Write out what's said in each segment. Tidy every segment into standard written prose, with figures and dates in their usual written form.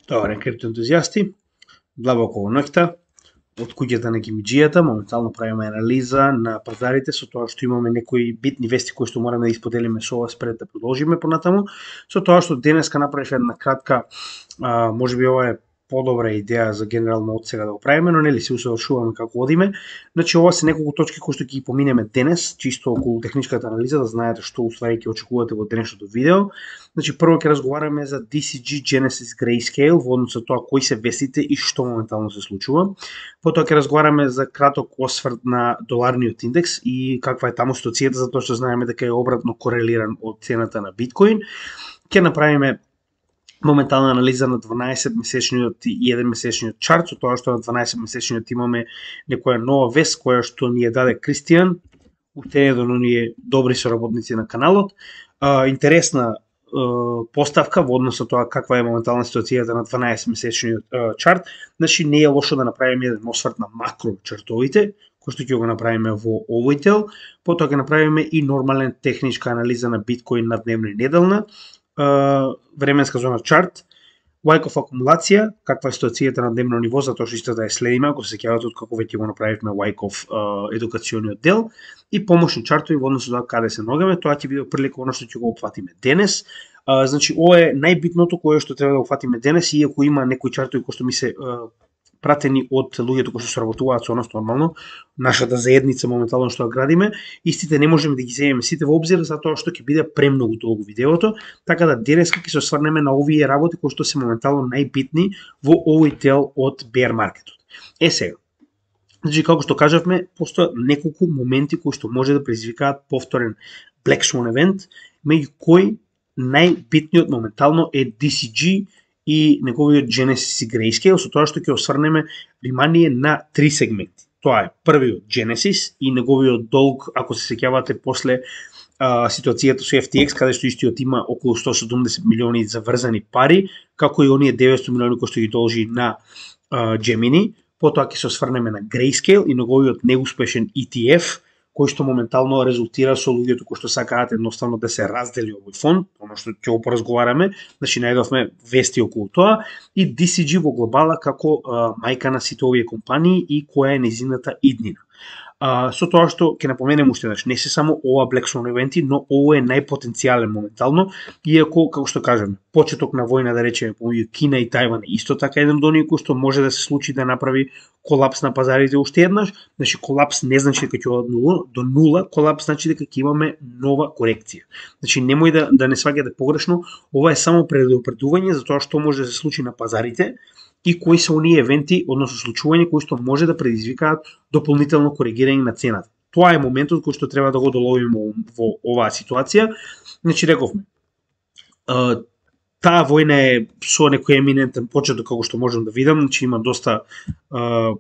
Добар ден, криптоентузијасти. Длабоко во ноќта, од куќата на гимиџијата, моментално правиме анализа на пазарите со тоа што имаме некои битни вести кои што мораме да исподелиме со вас пред да продолжиме понатаму. Со тоа што денеска направив една кратка, можеби ова е подобра идеја за генерално од сега да го правиме, но нели се усавршуваме како одиме. Значи ова се неколку точки кои што ќе ги поминеме денес, чисто околу техничката анализа, да знаете што уствари ќе очекувате во денешното видео. Значи прво ќе разговараме за DCG Genesis Grayscale во однос со тоа кои се вестите и што моментално се случува. Потоа ќе разговараме за краток осврт на доларниот индекс и каква е таму ситуацијата, затоа што знаеме дека е обратно корелиран од цената на биткоин. Ќе направиме моментална анализа на 12-месечниот и 1-месечниот чарт, со тоа што на 12-месечниот имаме некоја нова вест која што ни ја даде Кристијан, уште еден од оние добри соработници на каналот. Интересна поставка во однос со тоа каква е моментална ситуацијата на 12-месечниот чарт. Значи не е лошо да направиме еден осврт на макро чартовите, кој што ќе го направиме во овој дел. Потоа ќе направиме и нормален техничка анализа на биткоин на дневна и неделна, временска зона чарт, Wyckoff акумулација, каква е ситуацијата на дневно ниво, затоа што исто да ја следиме, ако се сеќавате од како веќе го направивме Wyckoff едукацијниот дел, и помошни чартови во однос со тоа каде се ногаме. Тоа ќе биде прилика оно што ќе го опфатиме денес. Значи ова е најбитното кое што треба да опфатиме денес, иако има некои чартови кои што ми се пратени од луѓето кои што соработуваат со нас нормално, нашата заедница моментално што ја градиме, истите не можеме да ги земеме сите во обзир затоа што ќе биде премногу долго видеото, така да денеска ќе се осврнеме на овие работи кои што се моментално најбитни во овој дел од bear маркетот. Сега, значи како што кажавме, постојат неколку моменти кои што може да предизвикаат повторен Black Swan евент, меѓу кои најбитниот моментално е DCG и неговиот Genesis и Grayscale, со тоа што ќе осврнеме внимание на три сегменти. Тоа е првиот Genesis и неговиот долг, ако се сеќавате после ситуацијата со FTX, каде што истиот има околу 170 милиони заврзани пари, како и оние 900 милиони кои што ги должи на Gemini. Потоа ќе се осврнеме на Grayscale и неговиот неуспешен ETF, кој што моментално резултира со луѓето кои што сакаат едноставно да се раздели овој фонд, оно што ќе го поразговараме, значи најдовме вести околу тоа, и DCG во глобала како мајка на сите овие компании и која е нејзината иднина. Со тоа што ќе напоменем уште еднаш, не се само ова Black Swan евенти, но ово е најпотенцијален моментално, иако како што кажеме, почеток на војна да речеме помеѓу Кина и Тајван е исто така еден од оние кои што може да се случи да направи колапс на пазарите уште еднаш. Значи колапс не значи дека ќе оди до нула, колапс значи дека ќе имаме нова корекција. Значи немој да не сваќате погрешно, ова е само предупредување за тоа што може да се случи на пазарите и кои се оние евенти, односно случувања кои што може да предизвикаат дополнително коригирање на цената. Тоа е моментот кој што треба да го доловиме во оваа ситуација. Значи рековме, таа војна е со некој еминентен почеток, како што можам да видам, значи има доста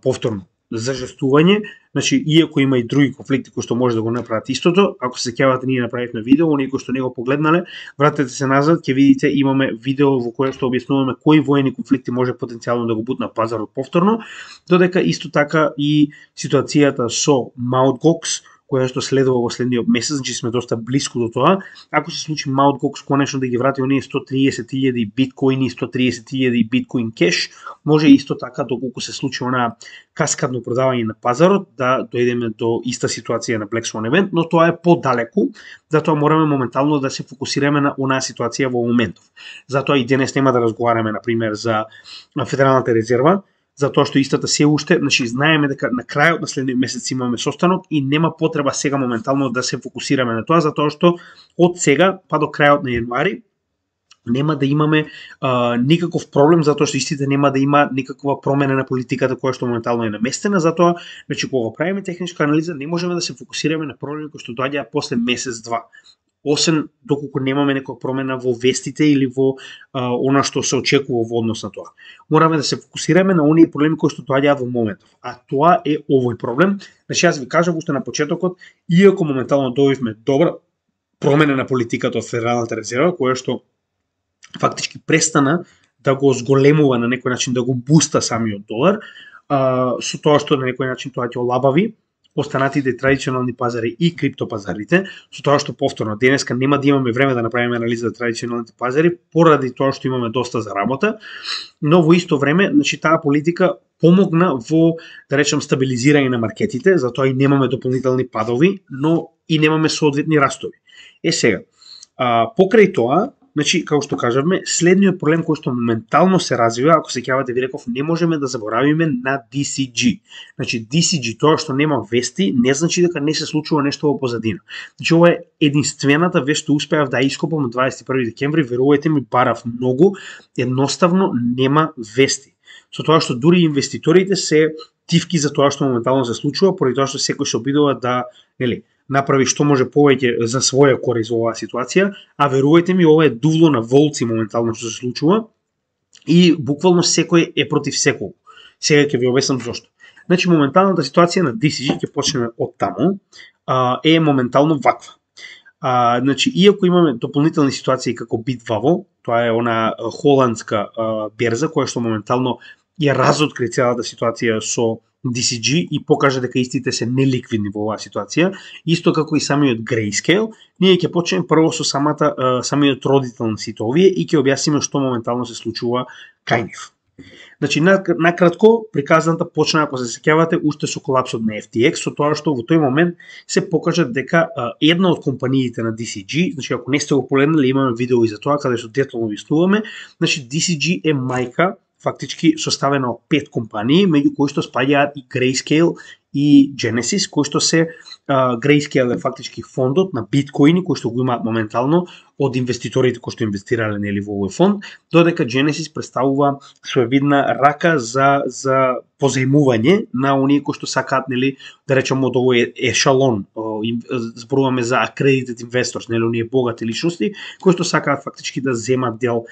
повторно зажестување, значи иако има и други конфликти кои што може да го направат истото, ако се сеќавате ние направивме видео, оние кои што не го погледнале, вратете се назад, ќе видите имаме видео во кое што објаснуваме кои воени конфликти може потенцијално да го бутнат пазарот повторно, додека исто така и ситуацијата со Mt. Gox, која што следува во следниот месец, значи сме доста блиску до тоа. Ако се случи Mt. Gox конечно да ги врати оние 130.000 биткоини и 130.000 биткоин кеш, може исто така доколку се случи она каскадно продавање на пазарот да дојдеме до иста ситуација на Black Swan евент, но тоа е подалеку, затоа мораме моментално да се фокусираме на онаа ситуација во моментов. Затоа и денес нема да разговараме на пример за Федералната резерва, затоа што истата се уште, значи знаеме дека на крајот на следниот месец имаме состанок и нема потреба сега моментално да се фокусираме на тоа, затоа што од сега па до крајот на јануари нема да имаме никаков проблем, затоа што истите нема да има никаква промена на политиката која што моментално е наместена, затоа значи кога правиме техничка анализа не можеме да се фокусираме на проблеми кои што доаѓаат после месец-два. Освен доколку немаме некоја промена во вестите или во она што се очекува во однос на тоа. Мораме да се фокусираме на оние проблеми кои што доаѓаат во моментов. А тоа е овој проблем. Значи јас ви кажав уште на почетокот, иако моментално добивме добра промена на политиката од Федералната резерва, која што фактички престана да го зголемува на некој начин, да го буста самиот долар, со тоа што на некој начин тоа ќе олабави останатите традиционални пазари и криптопазарите, со тоа што повторно денеска нема да имаме време да направиме анализа за традиционалните пазари поради тоа што имаме доста за работа, но во исто време, значи таа политика помогна во, да речем, стабилизирање на маркетите, затоа и немаме дополнителни падови, но и немаме соодветни растови. Сега, покрај тоа, значи, како што кажавме, следниот проблем кој што моментално се развива, ако се сеќавате, ви реков, не можеме да заборавиме на DCG. Значи, DCG, тоа што нема вести, не значи дека не се случува нешто во позадина. Значи, ова е единствената вест што успеав да ископам од 21 декември, верувајте ми, барав многу, едноставно нема вести. Со тоа што дури инвеститорите се тивки за тоа што моментално се случува, поради тоа што секој се обидува да, направи што може повеќе за своја корист во оваа ситуација, а верувајте ми, ова е дувло на волци моментално што се случува и буквално секој е против секого. Сега ќе ви обяснам зошто. Значи, моменталната ситуација на DCG, ќе почнеме од таму, е моментално ваква. Значи, иако имаме дополнителни ситуации како Bitwavo, тоа е она холандска берза која што моментално ја разоткри целата ситуација со DCG и покажа дека истите се неликвидни во оваа ситуација, исто како и самиот Grayscale, ние ќе почнеме прво со самиот родител на сите овие и ќе објасниме што моментално се случува кај нив. Значи, накратко, приказната почна, ако се сеќавате, уште со колапсот на FTX, со тоа што во тој момент се покажа дека една од компаниите на DCG, значи ако не сте го погледнали, имаме видео и за тоа каде што детално објаснуваме, значи DCG е мајка фактички составена од 5 компании, меѓу кои што спаѓаат и Grayscale и Genesis, кои што се Grayscale е фактички фондот на биткоини кои што го имаат моментално од инвеститорите кои што инвестирале нели во овој фонд, додека Genesis представува своевидна рака за позајмување на оние кои што сакаат нели да речеме од овој ешалон, зборуваме за accredited investors, нели оние богати личности кои што сакаат фактички да земат дел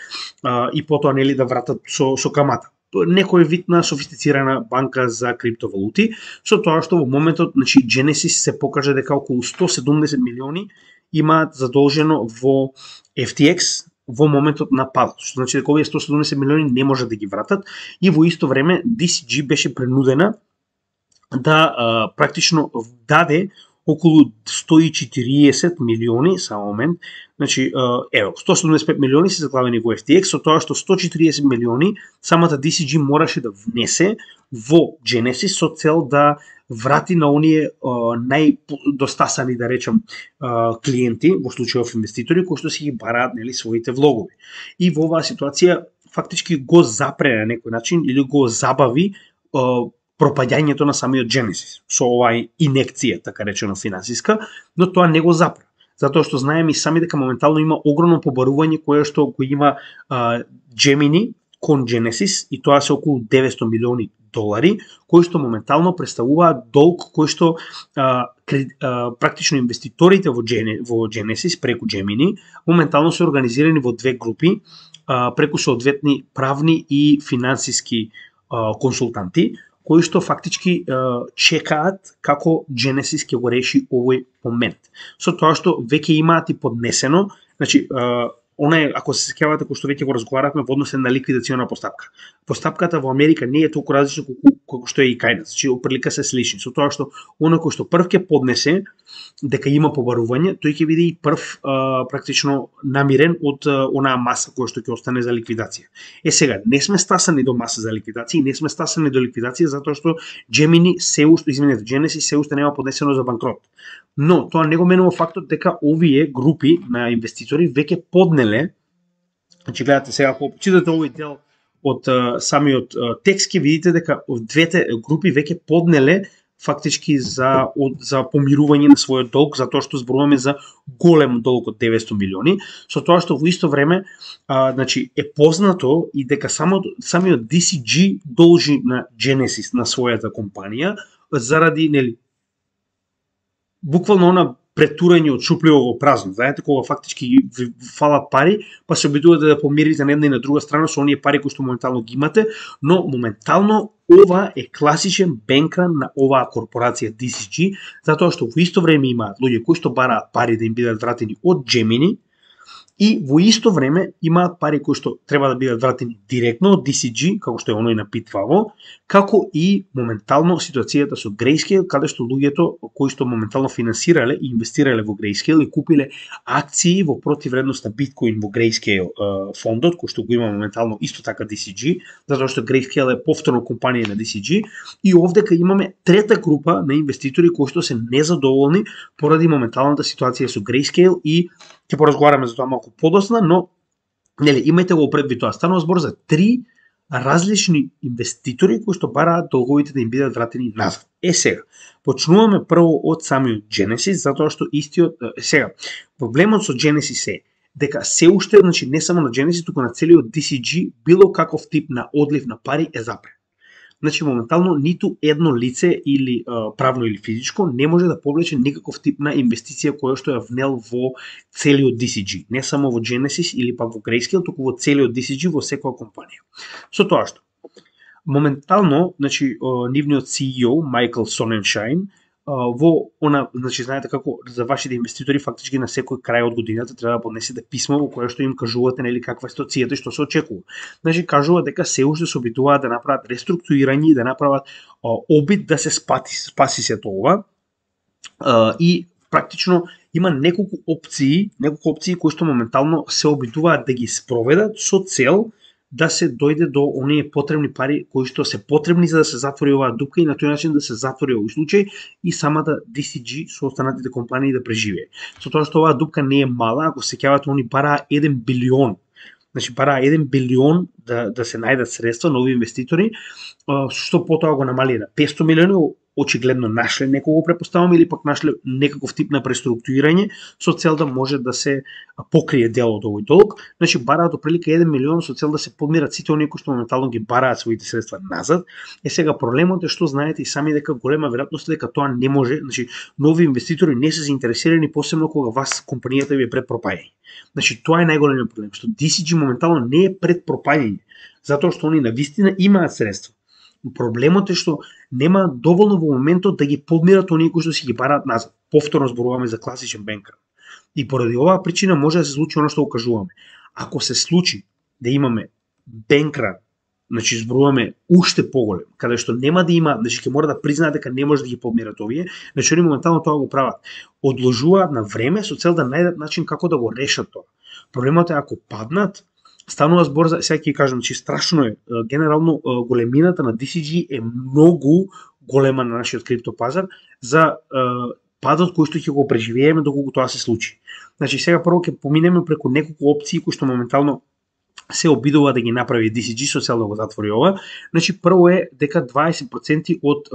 и потоа нели да вратат со камата. Некој вид на софистицирана банка за криптовалути, со тоа што во моментот, значи, Genesis се покажа дека околу 170 милиони имаат задолжено во FTX во моментот на падот. Што значи дека овие 170 милиони не можат да ги вратат и во исто време DCG беше принудена да практично даде околу 140 милиони, само момент, значи, 175 милиони се заглавени во FTX, со тоа што 140 милиони самата DCG мораше да внесе во Genesis со цел да врати на оние најдостасани, да речем, клиенти, во случајов инвеститори, кои што си ги бараат нели своите влогови. И во оваа ситуација фактички го запре на некој начин или го забави пропаѓањето на самиот Genesis со оваа инекција, така речено финансиска, но тоа не го запре. Затоа што знаеме и сами дека моментално има огромно побарување кое што го има Gemini кон Genesis и тоа се околу 900 милиони долари, кои што моментално представуваат долг кој што практично инвеститорите во Genesis преку Gemini моментално се организирани во две групи преку соодветни правни и финансиски консултанти, кои што фактички чекаат како Genesis ќе го реши овој момент. Со тоа што веќе имаат и поднесено, значи, ако се сеќавате, кој што веќе го разговаравме во однос на ликвидациона постапка. Постапката во Америка не е толку различна колку што е и кај нас, значи оприлика се слични, со тоа што оној кој што прв ќе поднесе дека има побарување, тој ќе биде и прв практично намирен од онаа маса која што ќе остане за ликвидација. Сега, не сме стасани до маса за ликвидација, не сме стасани до ликвидација затоа што Genesis се уште нема поднесено за банкрот. Но тоа не го менува фактот дека овие групи на инвеститори веќе поднеле, значи гледате сега, ако читате овој дел од самиот текст, ќе видите дека двете групи веќе поднеле фактички за помирување на својот долг, затоа што зборуваме за голем долг од 900 милиони, со тоа што во исто време значи е познато и дека самиот DCG должи на Genesis, на својата компанија, заради нели буквално она претурање од шупливо во празно. Знаете, кога фактички ви фалат пари, па се обидувате да помирите на една и на друга страна со оние пари кои што моментално ги имате, но моментално ова е класичен бенкран на оваа корпорација DCG, затоа што во исто време имаат луѓе кои што бараат пари да им бидат вратени од Gemini и во исто време имаат пари кои што треба да бидат вратени директно од DCG, како што е оној на Pitfavo, како и моментално ситуацијата со Grayscale, каде што луѓето кои што моментално финансирале и инвестирале во Grayscale и купиле акции во противредност на Bitcoin во Grayscale фондот, кој што го има моментално исто така DCG, затоа што Grayscale е повторно компанија на DCG, и овдека имаме трета група на инвеститори кои што се незадоволни поради моменталната ситуација со Grayscale и ќе поразговараме за тоа малку подоцна, но нели имајте го предвид тоа. Станува збор за три различни инвеститори кои што бараат долговите да им бидат вратени назад. Сега, почнуваме прво од самиот Genesis, затоа што истиот сега проблемот со Genesis е дека се уште, значи не само на Genesis, туку на целиот DCG било каков тип на одлив на пари е забран. Значи моментално ниту едно лице или правно или физичко не може да повлече никаков тип на инвестиција која што ја внел во целиот DCG, не само во Genesis или пак во Grayscale, туку во целиот DCG во секоја компанија. Со тоа што моментално, значи нивниот CEO Майкл Соненшайн во она, значи знаете како за вашите инвеститори фактички на секој крај од годината треба да поднесете писмо во кое што им кажувате нели каква е ситуацијата и што се очекува. Значи кажува дека се уште се обидуваат да направат реструктурирање и да направат обид да се спаси сето ова и практично има неколку опции кои што моментално се обидуваат да ги спроведат со цел да се дојде до оние потребни пари кои што се потребни за да се затвори оваа дупка и на тој начин да се затвори овој случај и самата DCG со останатите компании да преживее. Со тоа што оваа дупка не е мала, ако се сеќавате, они бараа 1 билион. Значи бараа 1 билион да се најдат средства нови инвеститори, што потоа го намали на 500 милиони, очигледно нашле некого, препоставам, или пак нашле некаков тип на преструктурирање со цел да може да се покрие дел од овој долг. Значи бараат оприлика 1 милион со цел да се подмират сите оние кои што моментално ги бараат своите средства назад. Сега проблемот е што знаете и сами дека голема веројатност е дека тоа не може, значи нови инвеститори не се заинтересирани, посебно кога вас компанијата ви е пред пропаѓање. Значи тоа е најголемиот проблем, што DCG моментално не е пред пропаѓање, затоа што они навистина имаат средства. Проблемот е што нема доволно во моментот да ги подмират оние кои што си ги бараат назад. Повторно зборуваме за класичен бенкран. И поради оваа причина може да се случи оно што го кажуваме. Ако се случи да имаме бенкран, значи зборуваме уште поголем, каде што нема да има, значи ќе мора да признаат дека не може да ги подмират овие, значи они моментално тоа го прават. Одложуваат на време со цел да најдат начин како да го решат тоа. Проблемот е ако паднат, станува збор за, сега ќе кажам, че страшно е, генерално големината на DCG е многу голема на нашиот криптопазар за падот кој што ќе го преживееме доколку тоа се случи. Значи сега прво ќе поминеме преку неколку опции кои што моментално се обидува да ги направи DCG со цел да го затвори ова. Значи прво е дека 20% од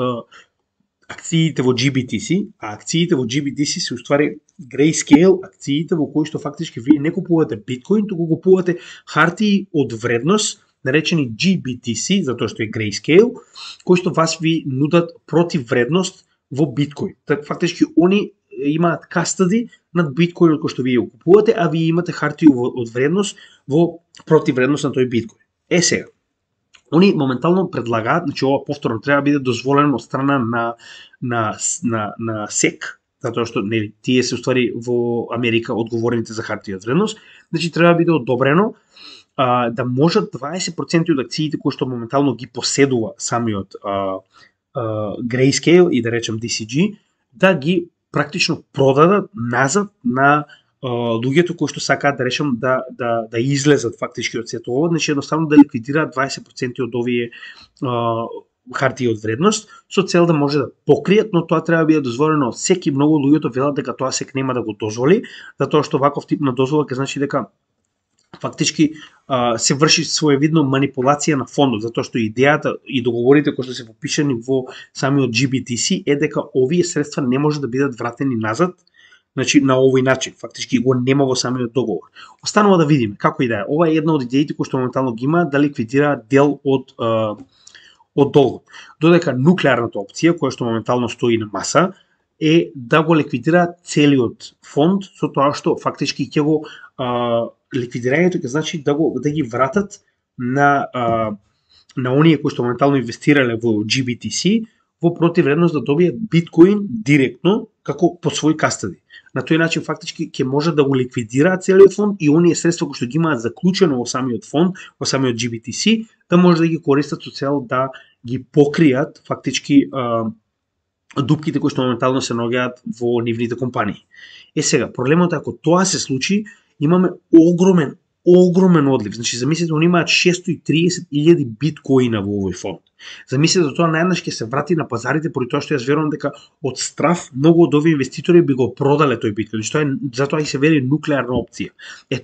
акциите во GBTC, а акциите во GBTC се уствари Grayscale акциите во кои што фактички вие не купувате биткоин, туку купувате хартии од вредност, наречени GBTC, затоа што е Grayscale, кои што вас ви нудат против вредност во биткоин. Така фактички они имаат кастади над биткоинот кој што вие го купувате, а вие имате хартија од вредност во против вредност на тој биткоин. Сега, они моментално предлагаат, значи ова повторно треба да биде дозволено од страна на SEC, затоа што нели тие се уствари во Америка одговорните за хартија од вредност, значи треба да биде одобрено да можат 20% од акциите кои што моментално ги поседува самиот Grayscale и да речем DCG, да ги практично продадат назад на луѓето кои што сакаат да речем да излезат фактички од сето ова, значи едноставно да ликвидираат 20% од овие хартии од вредност со цел да може да покријат, но тоа треба да биде дозволено од секи. Многу луѓето велат дека тоа сек нема да го дозволи, затоа што ваков тип на дозвола ќе значи дека фактички се врши своевидно манипулација на фондот, затоа што идејата и договорите кои што се подпишани во самиот GBTC е дека овие средства не може да бидат вратени назад, значи на овој начин, фактички го нема во самиот договор. Останува да видиме како и да е. Ова е една од идеите кои што моментално ги има да ликвидира дел од долгот. Додека нуклеарната опција која што моментално стои на маса е да го ликвидира целиот фонд, со тоа што фактички ќе го ликвидирањето ќе значи да ги вратат на оние кои што моментално инвестирале во GBTC во противредност да добијат биткоин директно како под свој кастади. На тој начин фактички ќе може да го ликвидираат целиот фонд и оние средства кои што ги имаат заклучено во самиот фонд, во самиот GBTC, да може да ги користат со цел да ги покријат фактички дупките кои што моментално се наоѓаат во нивните компании. Сега, проблемот е ако тоа се случи, имаме огромен одлив. Значи, замислете, они имаат 630.000 биткоина во овој фонд. Замислете, тоа наеднаш ќе се врати на пазарите, поради тоа што јас верувам дека од страф многу од овие инвеститори би го продале тој биткоин. Затоа и се вели нуклеарна опција.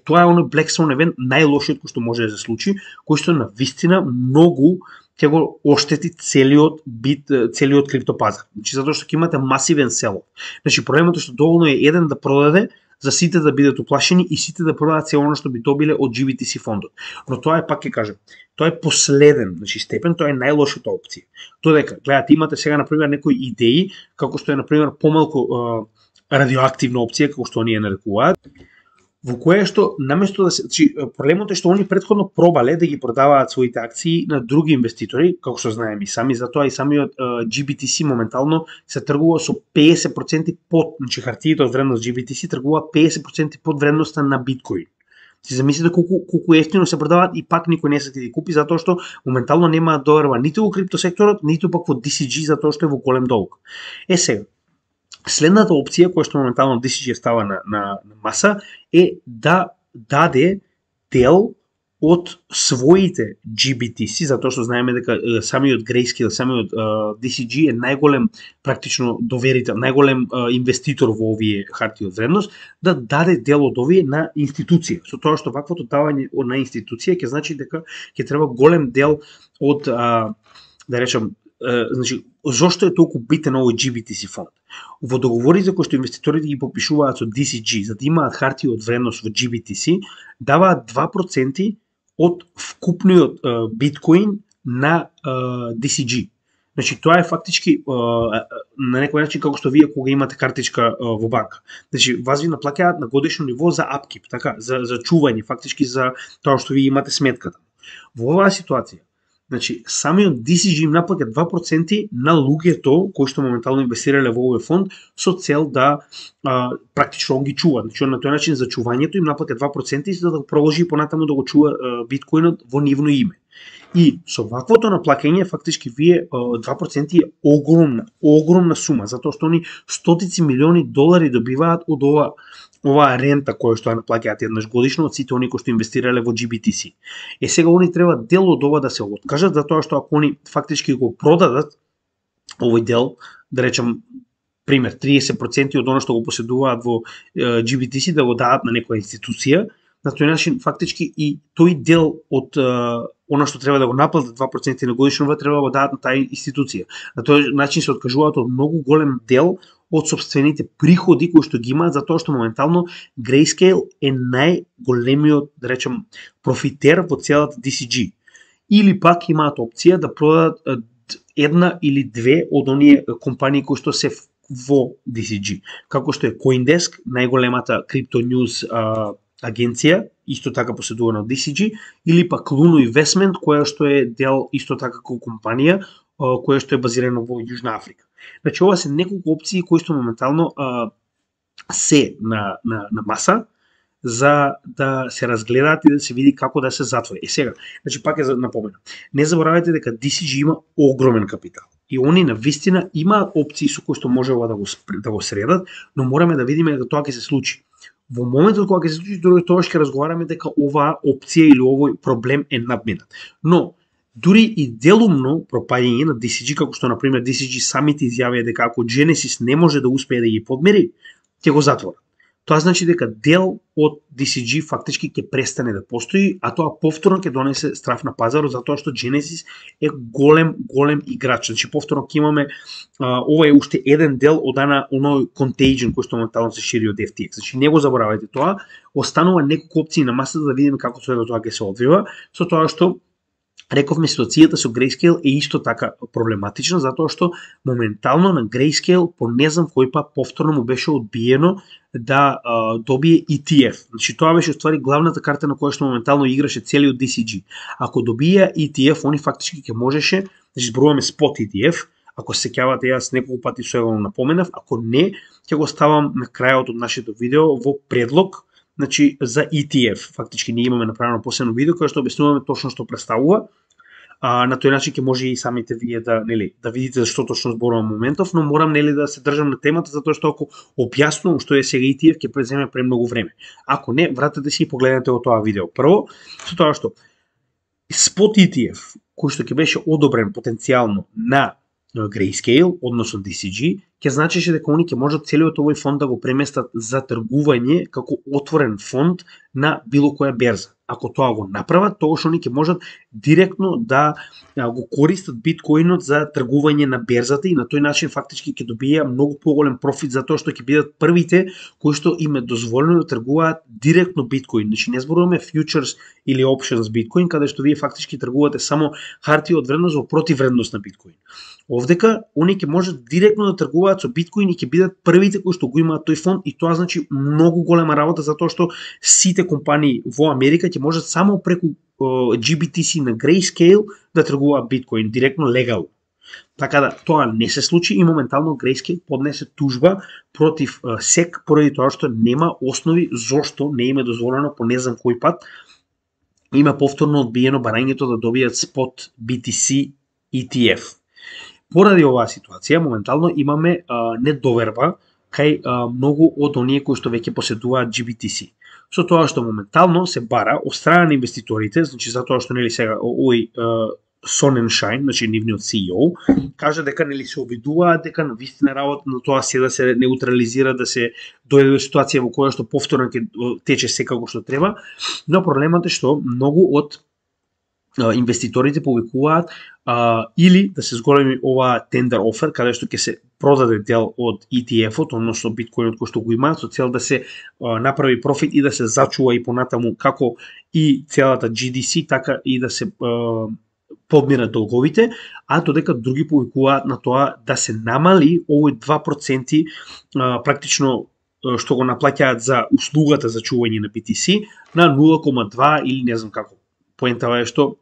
Тоа е оној Black Swan event, најлошиот кој што може да се случи, кој што на вистина многу ќе го оштети целиот криптопазар. Значи, затоа што ќе имате масивен сел. Значи, проблемот е што доволно е еден да продаде, за сите да бидат уплашени и сите да продадат се оно што би добиле од GBTC фондот. Но тоа е, пак ќе кажем, тоа е последен, значи степен, тоа е најлошата опција. Додека, гледате, имате сега например некои идеи, како што е например помалку радиоактивна опција, како што оние нарекуваат, во кое што наместо да се, значи проблемот е што они претходно пробале да ги продаваат своите акции на други инвеститори, како што знаеме и сами, затоа и самиот GBTC моментално се тргува со 50% под, значи хартиите од вредност GBTC тргува 50% под вредноста на биткоин. Си замислите колку ефтино се продаваат и пак никој не се ти купи, затоа што моментално нема доверба ниту во криптосекторот, ниту пак во DCG, затоа што е во голем долг. Сега, следната опција која што моментално DCG става на маса е да даде дел од своите GBTC, затоа што знаеме дека самиот Grayscale, самиот DCG е најголем практично доверител, најголем инвеститор во овие хартии од вредност, да даде дел од овие на институција. Со тоа што ваквото давање на институција ќе значи дека ќе треба голем дел од да речем, значи, зошто е толку битен овој GBTC фонд? Во договорите кои што инвеститорите ги подпишуваат со DCG, за да имаат хартии од вредност во GBTC, даваат 2% од вкупниот биткоин на DCG. Значи, тоа е фактички на некој начин како што вие кога имате картичка во банка. Значи, вас ви наплаќаат на годишно ниво за апкип, така, за чување, фактички за тоа што вие имате сметката. Во оваа ситуација, значи, самиот DCG им наплаќа 2% на луѓето кои што моментално инвестирале во овој фонд со цел да практично он ги чува. Значи, на тој начин за чувањето им наплаќа 2% и за да го продолжи понатаму да го чува биткоинот во нивно име. И со ваквото наплаќање фактички вие 2% е огромна сума, затоа што они стотици милиони долари добиваат од оваа рента која што ја наплаќаат еднаш годишно од сите они кои што инвестирале во GBTC. Сега они треба дел од ова да се откажат, затоа што ако они фактички го продадат овој дел, да речем пример 30% од она што го поседуваат во GBTC да го дадат на некоја институција, на тој начин фактички и тој дел од она што треба да го наплатат 2% на годишно треба да го дадат на таа институција. На тој начин се откажуваат од многу голем дел од собствените приходи кои што ги имаат, затоа што моментално Grayscale е најголемиот, да речем, профитер во целата DCG. Или пак имаат опција да продадат една или две од оние компании кои што се во DCG, како што е CoinDesk, најголемата крипто ньюз агенција, исто така поседувана од DCG, или пак Luno Investment, која што е дел исто така како компанија, која што е базирана во Јужна Африка. Значи, ова се неколку опции кои што моментално се на маса за да се разгледаат и да се види како да се затвори. Сега, значи пак е напоменам. Не заборавајте дека DCG има огромен капитал. И они на вистина имаат опции со кои што можева да го средат, но мораме да видиме дека тоа ќе се случи. Во моментот кога ќе се случи, тоа ќе разговараме дека оваа опција или овој проблем е надминат. Но дури и делумно пропаѓање на DCG, како што например DCG самите изјавија дека ако Genesis не може да успее да ги подмери, ќе го затворат. Тоа значи дека дел од DCG фактички ќе престане да постои, а тоа повторно ќе донесе страф на пазарот, затоа што Genesis е голем играч. Значи повторно ќе имаме ова е уште еден дел од оној contagion кој што моментално се шири од FTX. Значи не го заборавајте тоа, останува неколку опции на масата да видиме како тоа ќе се одвива, со тоа што рековме ситуацијата со Grayscale е исто така проблематична, затоа што моментално на Grayscale по не знам кој пат повторно му беше одбиено да добие ETF. Значи тоа беше уствари главната карта на која што моментално играше целиот DCG. Ако добија ETF, они фактички ќе можеше, значи зборуваме спот ETF, Ако се сеќавате, јас неколку пати со го напоменав, ако не, ќе го ставам на крајот од нашето видео во предлог, значи за ETF. Фактички ние имаме направено посебно видео кое што објаснуваме точно што представува. На тој начин ќе може и самите вие да видите за што точно зборувам моментов, но морам да се држам на темата затоа што ако објаснувам што е сега ETF ќе преземе премногу време. Ако не, вратете си и погледнете го тоа видео. Прво, со тоа што спот ETF кој што ќе беше одобрен потенцијално на Grayscale, односно DCG, ќе значеше дека они ќе можат целиот овој фонд да го преместат за тргување како отворен фонд на било која берза. Ако тоа го направат, тогаш они ќе можат директно да го користат биткоинот за тргување на берзата и на тој начин фактички ќе добија многу поголем профит затоа што ќе бидат првите кои што им е дозволено да тргуваат директно биткоин. Значи не зборуваме фьючерс или опшенс биткоин, каде што вие фактички тргувате само хартија од вредност во противвредност на биткоин. Овдека они ќе можат директно да тргуваат со биткоин и ќе бидат првите кои што го имаат тој фонд и тоа значи многу голема работа затоа што сите компании во Америка ќе можат само преку GBTC на Grayscale да тргуваат биткоин директно легално. Така да тоа не се случи и моментално Grayscale поднесе тужба против SEC поради тоа што нема основи зошто не им е дозволено по не знам кој пат има повторно одбиено барањето да добијат спот BTC ETF. Поради оваа ситуација, моментално имаме недоверба кај многу од оние кои што веќе поседуваат GBTC. Со тоа што моментално се бара од страна на инвеститорите, значи затоа што сега овој Sonnenschein, значи нивниот CEO, кажа дека се обидуваат дека на вистина работа на тоа се да се неутрализира, да се дојде до ситуација во која што повторно ќе тече секако што треба, но проблемот е што многу од инвеститорите повикуваат или да се зголеми ова tender offer, каде што ќе се продаде дел од ETF-от, односно биткоинот кој што го имаат, со цел да се направи профит и да се зачува и понатаму како и целата GDC, така и да се подмират долговите, а додека други повикуваат на тоа да се намали овој 2% практично што го наплаќаат за услугата за чување на BTC на 0,2 или не знам како. Поентава е што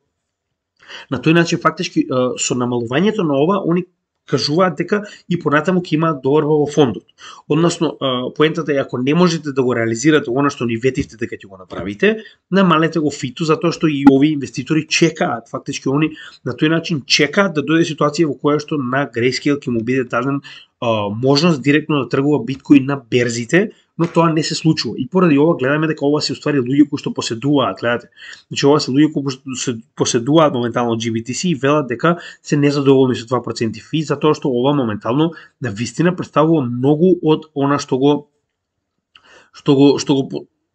на тој начин фактички со намалувањето на ова они кажуваат дека и понатаму ќе имаат доверба во фондот. Односно, поентата е ако не можете да го реализирате она што ни ветивте дека ќе го направите, намалете го фиту затоа што и овие инвеститори чекаат, фактички они на тој начин чекаат да дојде ситуација во која што на Grayscale ќе му биде даден можност директно да тргува биткоин на берзите, но тоа не се случува. И поради ова гледаме дека ова се уствари луѓе кои што поседуваат, гледате. Значи ова се луѓе кои што поседуваат моментално GBTC и велат дека се незадоволни со 2% фи, затоа што ова моментално на вистина представува многу од она што го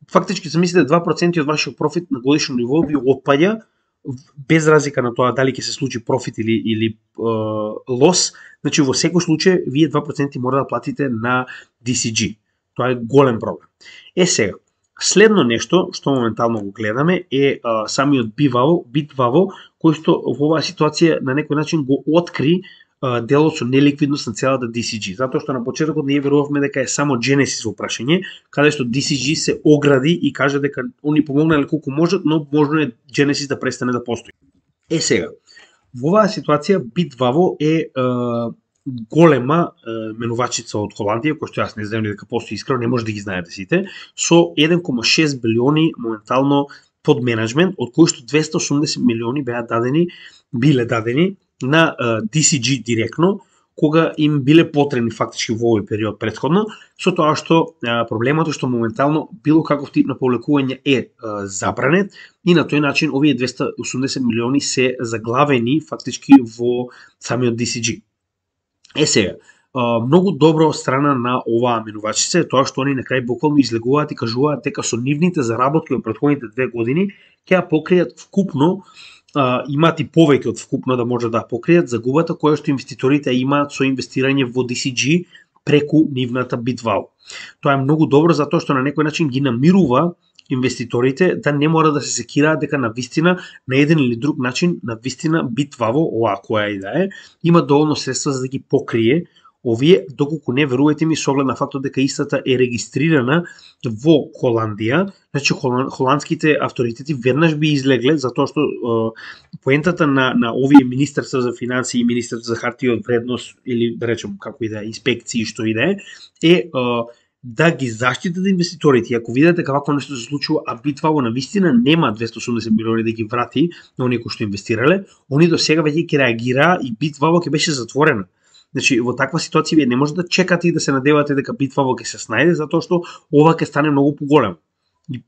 фактички се мислите 2% од вашиот профит на годишно ниво ви отпаѓа без разлика на тоа дали ќе се случи профит или лос. Значи во секој случај вие 2% мора да платите на DCG. Тоа е голем проблем. Сега, следно нешто што моментално го гледаме е самиот Bitvavo, кој што во оваа ситуација на некој начин го откри делот со неликвидност на целата DCG, затоа што на почетокот ние верувавме дека е само Genesis во прашање, каде што DCG се огради и кажа дека они помогнале колку можат, но можно е Genesis да престане да постои. Сега, во оваа ситуација Bitvavo е голема менувачица од Холандија, кој што јас не знам дека постои искрено, не може да ги знаете сите, со 1,6 билиони моментално под менеджмент, од кои што 280 милиони биле дадени на DCG директно, кога им биле потребни фактички во овој период претходно, со тоа што проблемот е што моментално било каков тип на повлекување е забранет и на тој начин овие 280 милиони се заглавени фактички во самиот DCG. Сега, многу добро страна на оваа менувачица е тоа што они на крај буквално излегуваат и кажуваат дека со нивните заработки од претходните 2 години ќе ја покријат вкупно, имаат и повеќе од вкупно да може да покријат загубата која што инвеститорите имаат со инвестирање во DCG преку нивната Bitvavo. Тоа е многу добро затоа што на некој начин ги намирува инвеститорите да не мора да се секираат дека на вистина на еден или друг начин на вистина Bitvavo, оваа која и да е, има доволно средства за да ги покрие овие, доколку не верувајте ми, со оглед на фактот дека истата е регистрирана во Холандија, значи холандските авторитети веднаш би излегле, затоа што поентата на овие министерства за финансии и министерство за хартија од вредност, или да речем како и да е, инспекции, што и да е да ги заштитат инвеститорите. И ако видите дека вакво нешто се случува, а Bitfavo навистина нема 280 милиони да ги врати на оние кои што инвестирале, они до сега веќе ќе реагираа и Bitfavo ќе беше затворена. Значи, во таква ситуација вие не може да чекате и да се надевате дека Bitfavo ќе се снајде, затоа што ова ќе стане многу поголем. И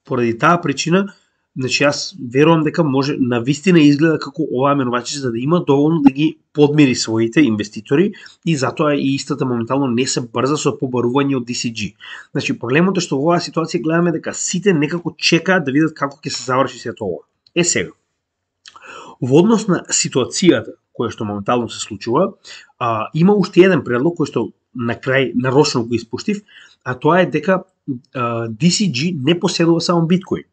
поради таа причина, значи јас верувам дека може навистина изгледа како оваа менувачица за да има доволно да ги подмири своите инвеститори и затоа и истата моментално не се брза со побарување од DCG. Значи, проблемот е што во оваа ситуација гледаме дека сите некако чекаат да видат како ќе се заврши сето ова. Сега, во однос на ситуацијата која што моментално се случува, има уште еден предлог кој што на крај нарочно го испуштив, а тоа е дека DCG не поседува само биткоин.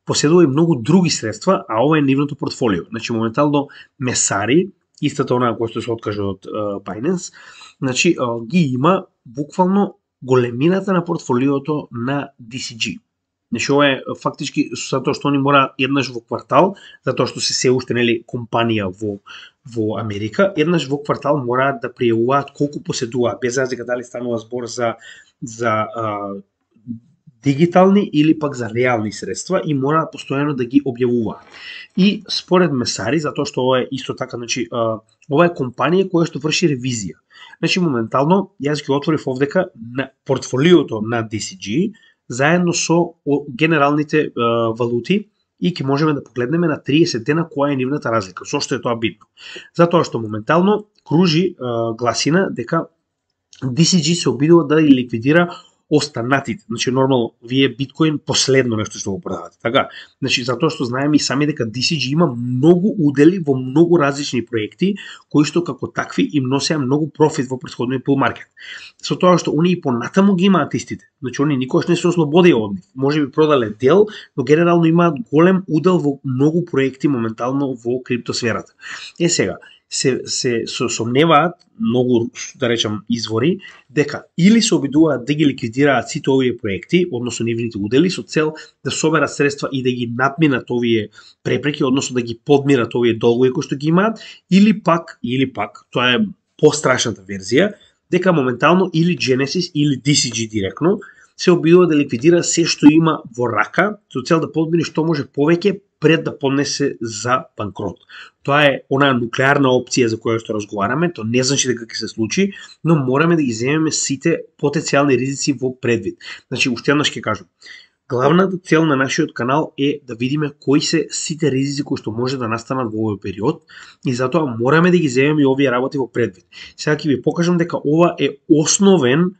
Поседува и многу други средства, а ова е нивното портфолио. Значи, моментално Месари, истата онаа која што се откажа од Binance, значи, ги има буквално големината на портфолиото на DCG. Значи, ова е фактички затоа што они мора еднаш во квартал, затоа што се уште нели компанија во Америка, еднаш во квартал мораат да пријавуваат колку поседуваат, без разлика дали станува збор за дигитални или пак за реални средства и мора постојано да ги објавуваат. И според Месари, затоа што ова е исто така, значи ова е компанија која што врши ревизија. Значи моментално јас ги отворив овдека на портфолиото на DCG заедно со генералните валути и ќе можеме да погледнеме на 30 дена која е нивната разлика. Зошто е тоа битно? Затоа што моментално кружи гласина дека DCG се обидува да ликвидира останатите. Значи, нормално, вие биткоин последно нешто што го продавате. Така? Значи, затоа што знаеме и сами дека DCG има многу удели во многу различни проекти, кои што како такви им носеа многу профит во претходниот bull market. Со тоа што они и понатаму ги имаат истите. Значи, они никош не се ослободија од нив. Може би продале дел, но генерално имаат голем удел во многу проекти моментално во криптосферата. Сега, се сомневаат многу, да речам, извори, дека или се обидуваат да ги ликвидираат сите овие проекти, односно нивните удели, со цел да соберат средства и да ги надминат овие препреки, односно да ги подмират овие долгови кои што ги имаат, или пак, тоа е пострашната верзија, дека моментално или Genesis или DCG директно се обидува да ликвидира се што има во рака, со цел да подмири што може повеќе пред да поднесе за банкрот. Тоа е онаа нуклеарна опција за која што разговараме, тоа не значи дека ќе се случи, но мораме да ги земеме сите потенцијални ризици во предвид. Значи, уште еднаш ќе кажам, главната цел на нашиот канал е да видиме кои се сите ризици кои што може да настанат во овој период и затоа мораме да ги земеме и овие работи во предвид. Сега ќе ви покажам дека ова е основен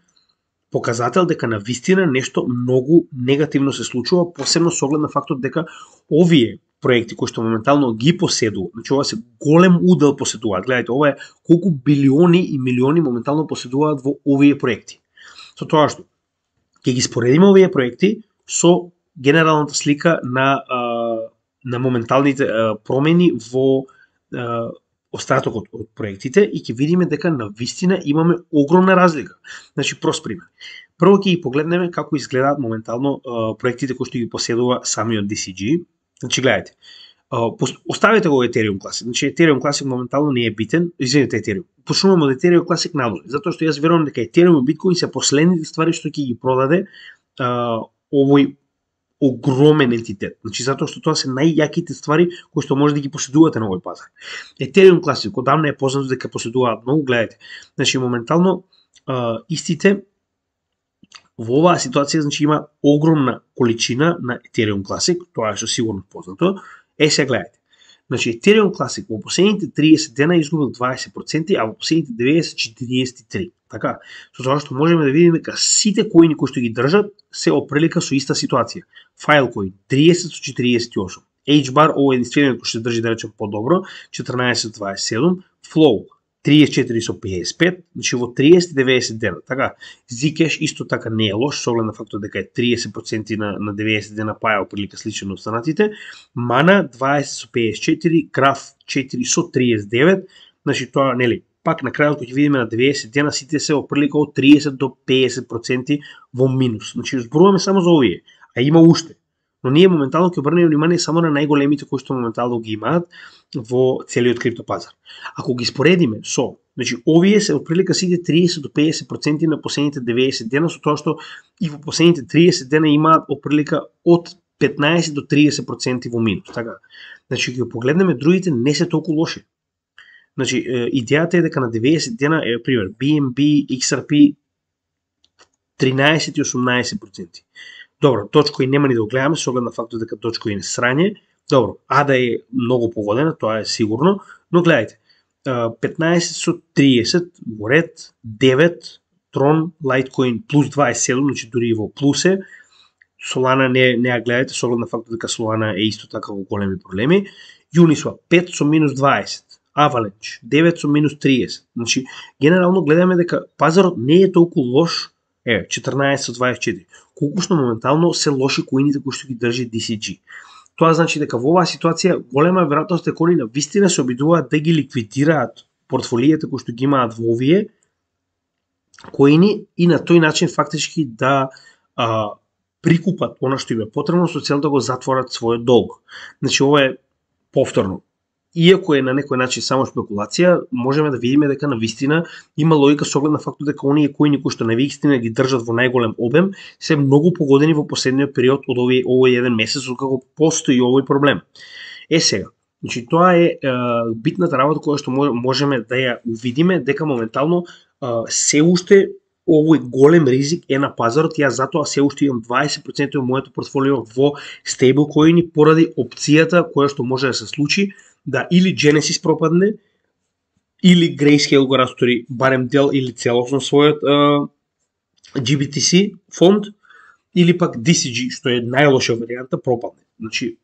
показател дека на вистина нешто многу негативно се случува, посебно со оглед на фактот дека овие проекти кои што моментално ги поседуваат, значи ова се голем удел поседуваат. Гледате, ова е колку билиони и милиони моментално поседуваат во овие проекти. Со тоа што ќе ги споредиме овие проекти со генералната слика на моменталните промени во остатокот од проектите и ќе видиме дека на вистина имаме огромна разлика. Значи, прост пример. Прво ќе ги погледнеме како изгледаат моментално проектите кои што ги поседува самиот DCG. Значи, гледайте, оставете го Ethereum Classic. Значи, Ethereum Classic моментално не е битен. Извинете, Ethereum. Почнуваме од Ethereum Classic надолу, затоа што јас верувам дека Ethereum и Bitcoin се последните ствари што ќе ги продаде овој огромен ентитет. Значи, затоа што тоа се најјаките ствари кои што може да ги поседувате на овој пазар. Ethereum Classic, одамна е познато дека поседуваат многу, гледате. Значи, моментално истите во оваа ситуација, значи, има огромна количина на Ethereum Classic, тоа е што сигурно познато. Сега гледате. Значи, Ethereum Classic во последните 30 дена изгубил 20%, а во последните 90 43%. Така, со тоа што можеме да видиме дека сите коини кои што ги држат се оприлика со иста ситуација. Filecoin 30 со 48, HBAR ова е единствениот кој што држи, да речем, подобро, 14,27, Flow 34 со 55, значи во 30-90 дена. Така, Zcash исто така не е лош, со оглед на фактот дека е 30% на 90 дена паја оприлика слично на останатите. Mana 20 со 54, Graph 4 со 39, значи тоа, нели, пак на крајот кога ќе видиме на 90 дена сите се опрлика од 30 до 50% во минус. Значи зборуваме само за овие, а има уште. Но ние моментално ќе обрнеме внимание само на најголемите кои што моментално ги имаат во целиот криптопазар. Ако ги споредиме со, значи овие се отприлика сите 30 до 50% на последните 90 дена, со тоа што и во последните 30 дена имаат отприлика од 15 до 30% во минус. Така. Значи ќе погледнеме другите не се толку лоши. Значи идејата е дека на 90 дена е пример BNB, XRP 13 и 18%. Добро, Dogecoin нема ни да го гледаме со оглед на фактот дека Dogecoin е срање. Добро, ADA е многу погодена, тоа е сигурно, но гледајте, 15 со 30 во ред, 9, Tron, Litecoin плюс 27, значи дури и во плюс е, Solana не ја гледајте со оглед на фактот дека Solana е исто така во големи проблеми, Uniswap 5 со минус 20, Avalanche 9 со минус 30, значи генерално гледаме дека пазарот не е толку лош, 14 со 24, колку што моментално се лоши коините кои што ги држи DCG. Тоа значи дека во оваа ситуација голема веројатност е кои на вистина се обидуваат да ги ликвидираат портфолиите кои што ги имаат во овие коини и на тој начин фактички да прикупат она што им е потребно со цел да го затворат својот долг. Значи ова е повторно. Иако е на некој начин само спекулација, можеме да видиме дека на вистина има логика со оглед на фактот дека оние коини кои што на вистина ги држат во најголем обем се многу погодени во последниот период од овој еден месец откако постои овој проблем. Сега, значи тоа е битната работа која што можеме да ја увидиме дека моментално се уште овој голем ризик е на пазарот и јас затоа се уште имам 20% од моето портфолио во стейблкоини поради опцијата која што може да се случи да или Genesis пропадне, или Grayscale го растори барем дел или целосно својот GBTC фонд, или пак DCG, што е најлоша варијанта, пропадне. Значи,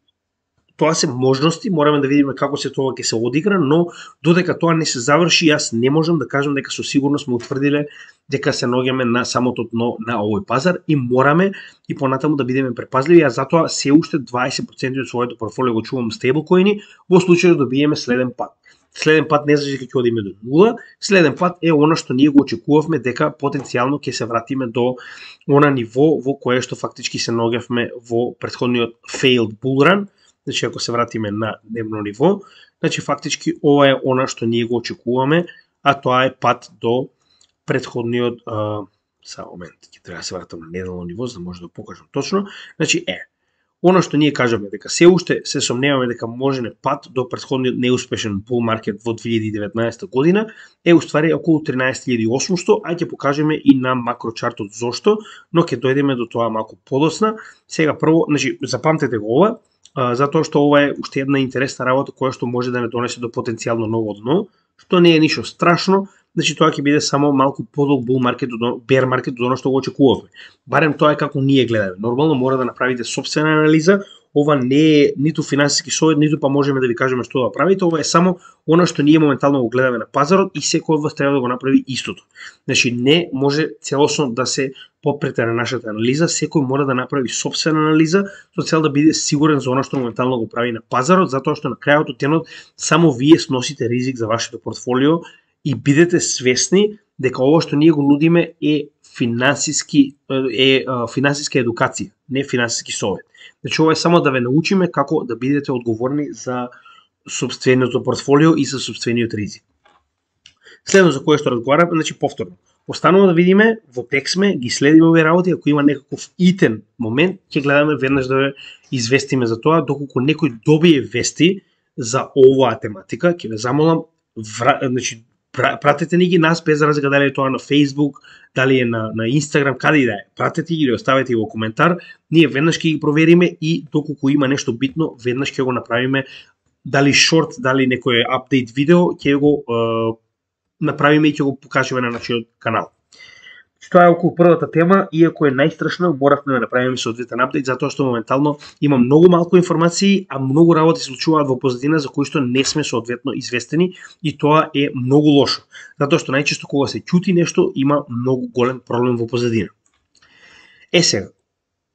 тоа се можности, мораме да видиме како се тоа ќе се одигра, но додека тоа не се заврши, јас не можам да кажам дека со сигурност сме утврдиле дека се наоѓаме на самото дно на овој пазар и мораме и понатаму да бидеме препазливи, а затоа се уште 20% од своето портфолио го чувам стейблкоини во случај да добиеме следен пат. Следен пат не значи дека ќе одиме до нула, следен пат е она што ние го очекувавме дека потенцијално ќе се вратиме до она ниво во кое што фактички се наоѓавме во претходниот failed bull run. Значи, ако се вратиме на дневно ниво, значи фактички ова е она што ние го очекуваме, а тоа е пат до претходниот само момент, ќе треба да се вратам на неделно ниво за да може да покажам точно. Значи она што ние кажаме дека се уште се сомневаме дека можене пат до претходниот неуспешен bull market во 2019 година е уствари околу 13.800, а ќе покажеме и на макрочартот зошто, но ќе дојдеме до тоа малку подоцна. Сега прво, значи запамтете го ова, затоа што ова е уште една интересна работа која што може да не донесе до потенцијално ново дно, што не е ништо страшно, значи тоа ќе биде само малку подолг bull market, bear market од оно што го очекувавме. Барем тоа е како ние гледаме. Нормално мора да направите сопствена анализа, ова не е ниту финансиски совет, ниту па можеме да ви кажеме што да правите, ова е само она што ние моментално го гледаме на пазарот и секој од вас треба да го направи истото. Значи не може целосно да се попрете на нашата анализа, секој мора да направи сопствена анализа со цел да биде сигурен за она што моментално го прави на пазарот, затоа што на крајот од денот само вие сносите ризик за вашето портфолио и бидете свесни дека ова што ние го нудиме е финансиска едукација, не финансиски совет. Значи ова е само да ве научиме како да бидете одговорни за сопствениот портфолио и за сопствениот ризик. Следно за кое што разговараме, значи повторно. Останува да видиме, во тек сме, ги следиме овие работи, ако има некаков итен момент, ќе гледаме веднаш да ве известиме за тоа, доколку некој добие вести за оваа тематика, ќе ве замолам, значи пратете ни ги нас без разлика дали е тоа на Facebook, дали е на Instagram, каде и да е. Пратете ги или оставете ги во коментар, ние веднаш ќе ги провериме и доколку има нешто битно, веднаш ќе го направиме, дали шорт, дали некој апдейт видео, ќе го направиме и ќе го покажеме на нашиот канал. Тоа е околу првата тема, иако е најстрашна, моравме да направиме соодветен апдейт, затоа што моментално има многу малку информации, а многу работи се случуваат во позадина за кои што не сме соодветно известени и тоа е многу лошо. Затоа што најчесто кога се ќути нешто, има многу голем проблем во позадина. Сега,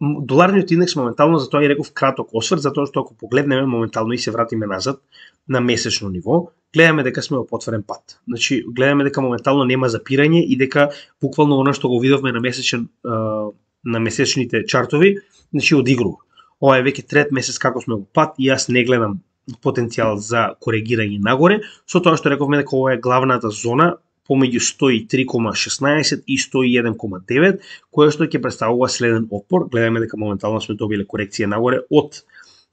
доларниот индекс моментално, затоа и реков краток осврт, затоа што ако погледнеме моментално и се вратиме назад на месечно ниво, гледаме дека сме во потврден пат. Значи, гледаме дека моментално нема запирање и дека буквално она што го видовме на месечните чартови, значи одигрува. Ова е веќе трет месец како сме во пат и јас не гледам потенцијал за коригирање нагоре, со тоа што рековме дека ова е главната зона помеѓу 103,16 и 101,9, која што ќе представува следен отпор. Гледаме дека моментално сме добиле корекција нагоре од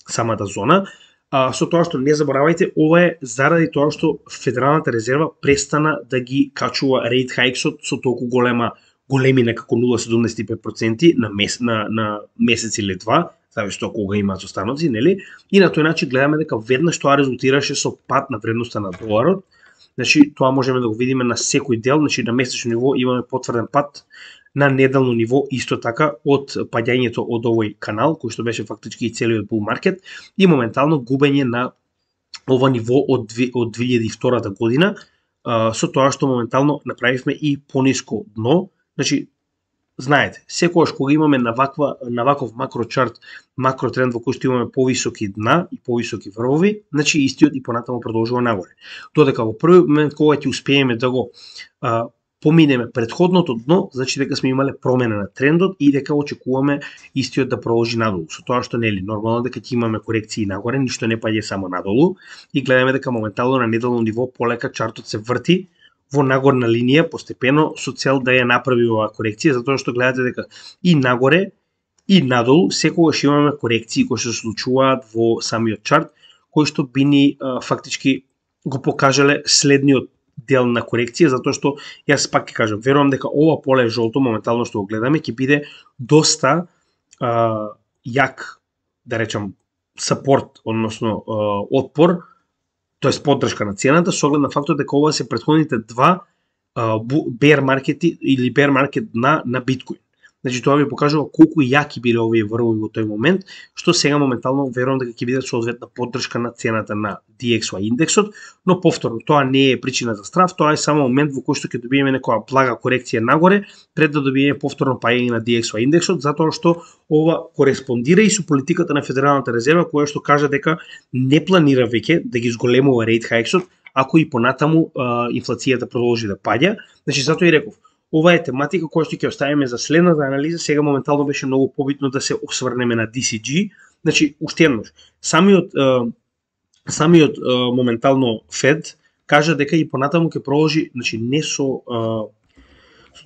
самата зона. Со тоа што не заборавајте, ова е заради тоа што Федералната резерва престана да ги качува рейт хајксот со толку големина како 0,75% на месец или два, зависи тоа кога имаат останоци, нели? И на тој начин гледаме дека веднаш тоа резултираше со пад на вредноста на доларот. Значи, тоа можеме да го видиме на секој дел, значи на месечно ниво имаме потврден пад, на неделно ниво исто така од паѓањето од овој канал, кој што беше фактички и целиот bull market, и моментално губење на ова ниво од 2002 година, со тоа што моментално направивме и пониско дно. Значи, знаете, секогаш кога имаме на ваков макрочарт, макротренд во кој што имаме повисоки дна и повисоки врвови, значи истиот и понатаму продолжува нагоре. Додека во први момент кога ќе успееме да го поминеме предходното дно, значи дека сме имале промена на трендот и дека очекуваме истиот да продолжи надолу. Со тоа што нели нормално дека ќе имаме корекции нагоре, ништо не паѓа само надолу и гледаме дека моментално на неделно ниво полека чартот се врти во нагорна линија постепено со цел да ја направи оваа корекција, затоа што гледате дека и нагоре и надолу секогаш имаме корекции кои се случуваат во самиот чарт, кои што би ни фактички го покажале следниот дел на корекција, затоа што јас пак ќе кажам, верувам дека ова поле жолто моментално што го гледаме ќе биде доста јак, да речам, сапорт, односно отпор, тоест поддршка на цената, со оглед на фактот дека ова се претходните два bear маркети или bear маркет на биткоин. Значи тоа ви покажува колку јаки биле овие врвови во тој момент, што сега моментално верувам дека ќе биде соодветна поддршка на цената на DXY индексот, но повторно тоа не е причина за страв, тоа е само момент во кој што ќе добиеме некоја блага корекција нагоре пред да добиеме повторно паѓање на DXY индексот, затоа што ова кореспондира и со политиката на Федералната резерва која што кажа дека не планира веќе да ги зголемува рейт хајксот ако и понатаму инфлацијата продолжи да паѓа. Значи затоа и реков, ова е тематика која што ќе оставиме за следната анализа. Сега моментално беше многу побитно да се осврнеме на DCG. Значи, уште еднаш, самиот моментално Фед кажа дека и понатаму ќе продолжи, значи не со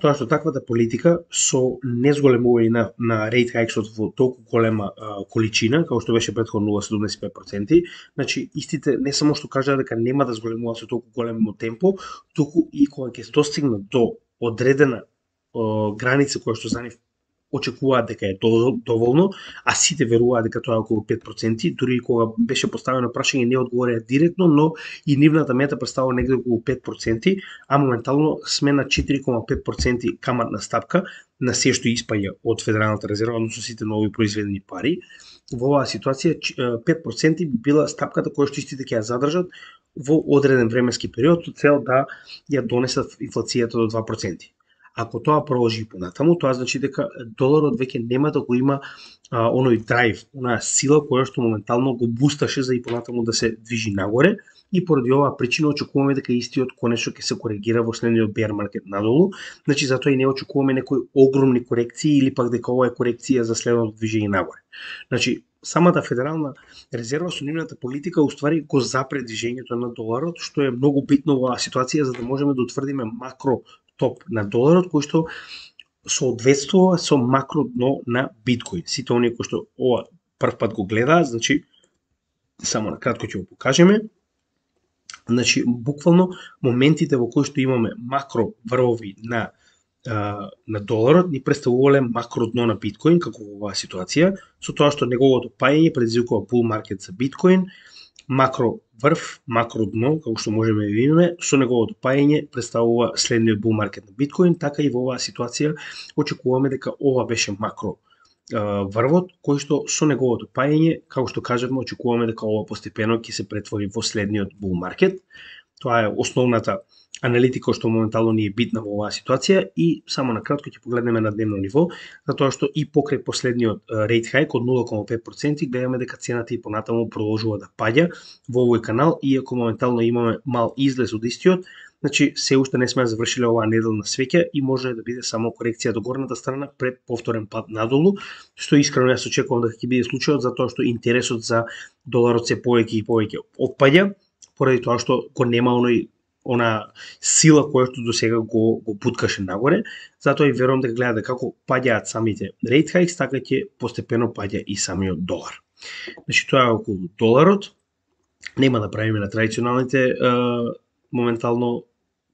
тоа што таквата политика со незголемување на рейт хајксот во толку голема количина, како што беше претходно 0,75%, значи истите не само што кажа дека нема да зголемува со толку големо темпо, туку и кога ќе достигнат до одредена граница која што за нив очекуваат дека е доволно, а сите веруваат дека тоа е околу 5%, дури и кога беше поставено прашање не одговорија директно, но и нивната мета представува негде околу 5%, а моментално сме на 4,5% каматна стапка на се што испаѓа од Федералната резерва, односно сите нови произведени пари. Во оваа ситуација 5% би била стапката која што истите ќе ја задржат во одреден временски период со цел да ја донесат инфлацијата до 2%. Ако тоа продолжи понатаму, тоа значи дека доларот веќе нема да го има оној драйв, онаа сила која што моментално го бусташе за и понатаму да се движи нагоре, и поради оваа причина очекуваме дека истиот конечно ќе се коригира во следниот bear маркет надолу. Значи затоа и не очекуваме некои огромни корекции или пак дека ова е корекција за следното движење нагоре. Значи самата Федерална резерва со нивната политика уствари го запре движењето на доларот, што е многу битно во оваа ситуација за да можеме да утврдиме макро топ на доларот кој што соодветствува со макро дно на биткоин. Сите оние кои што ова прв пат го гледаат, значи само на кратко ќе го покажеме. Значи буквално моментите во кои што имаме макро врвови на доларот ни представувале макро дно на биткоин како во оваа ситуација, со тоа што неговото паѓање предизвикува bull маркет за биткоин, макро врв, макро дно, како што можеме да видиме, со неговото паѓање представува следниот bull маркет на биткоин, така и во оваа ситуација очекуваме дека ова беше макро врвот, кој што со неговото паѓање, како што кажавме, очекуваме дека ова постепено ќе се претвори во следниот bull маркет. Тоа е основната аналитика што моментално ни е битна во оваа ситуација и само на кратко ќе погледнеме на дневно ниво, затоа што и покрај последниот рейт хајк од 0,5% гледаме дека цената и понатаму продолжува да паѓа во овој канал, иако моментално имаме мал излез од истиот. Значи, се уште не сме завршиле оваа неделна свеќа и може да биде само корекција до горната страна пред повторен пат надолу, што искрено јас очекувам дека ќе биде случајот, затоа што интересот за доларот се повеќе и повеќе опаѓа, поради тоа што го нема она сила која што до сега го буткаше нагоре, затоа и верувам дека гледате како паѓаат самите рейт хајкс, така ќе постепено паѓа и самиот долар. Значи, тоа е околу доларот. Нема да правиме на традиционалните моментално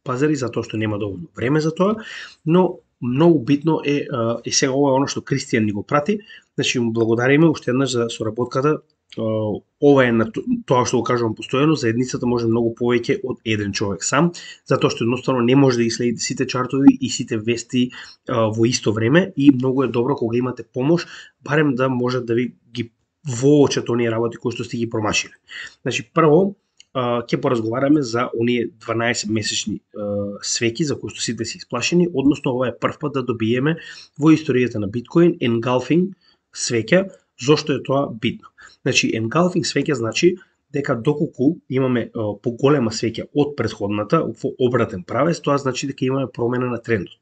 пазари, затоа што нема доволно време за тоа, но многу битно е, и сега ова е оно што Кристијан ни го прати, значи му благодариме уште еднаш за соработката. Ова е на тоа што го кажувам постојано, заедницата може многу повеќе од еден човек сам, затоа што едноставно не може да ги следите сите чартови и сите вести во исто време и многу е добро кога имате помош, барем да може да ви ги воочат оние работи кои што сте ги промашиле. Значи, прво, ќе поразговараме за оние 12 месечни свеки за кои што сите се исплашени, односно ова е прв пат да добиеме во историјата на биткоин engulfing свеќа. Зошто е тоа битно? Значи, engulfing свеќа значи дека доколку имаме поголема свеќа од претходната во обратен правец, тоа значи дека имаме промена на трендот.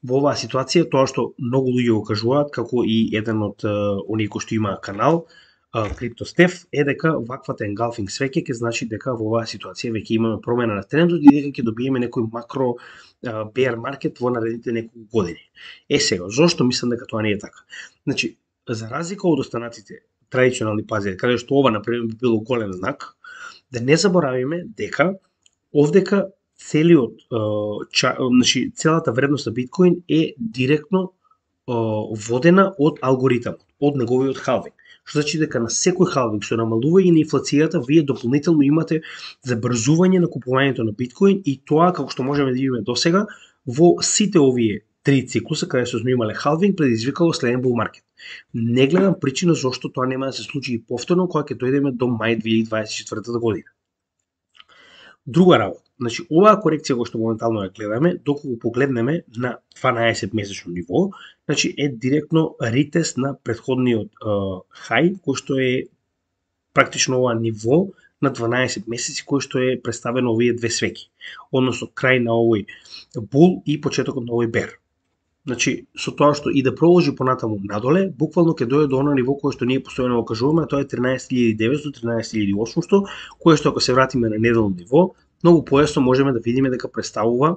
Во оваа ситуација, тоа што многу луѓе го кажуваат, како и еден од оние кои што има канал, CryptoStef, е дека ваквата engulfing свеќа ќе значи дека во оваа ситуација веќе имаме промена на трендот и дека ќе добиеме некој макро bear market во наредните неколку години. Сега, зошто мислам дека тоа не е така? Значи, за разлика од останатите традиционални пазари, каде што ова например би било голем знак, да не заборавиме дека овдека целиот значи целата вредност на биткоин е директно водена од алгоритмот, од неговиот халвинг. Што значи дека на секој халвинг што намалува и на инфлацијата, вие дополнително имате забрзување на купувањето на биткоин и тоа, како што можеме да видиме досега, во сите овие три циклуса каде што сме имале халвинг, предизвикало следен бул маркет. Не гледам причина зошто тоа нема да се случи и повторно кога ќе дојдеме до мај 2024 година. Друга работа, значи оваа корекција која што моментално ја гледаме, доколку погледнеме на 12 месечно ниво, значи е директно ретест на претходниот хај, кој што е практично ова ниво на 12 месеци кој што е представено овие две свеки, односно крај на овој бул и почетокот на овој бер. Значи, со тоа што и да продолжи понатаму надоле, буквално ќе дојде до оно ниво кое што ние постојано го кажуваме, тоа е 13.900, 13.800, кое што ако се вратиме на неделно ниво, многу појасно можеме да видиме дека представува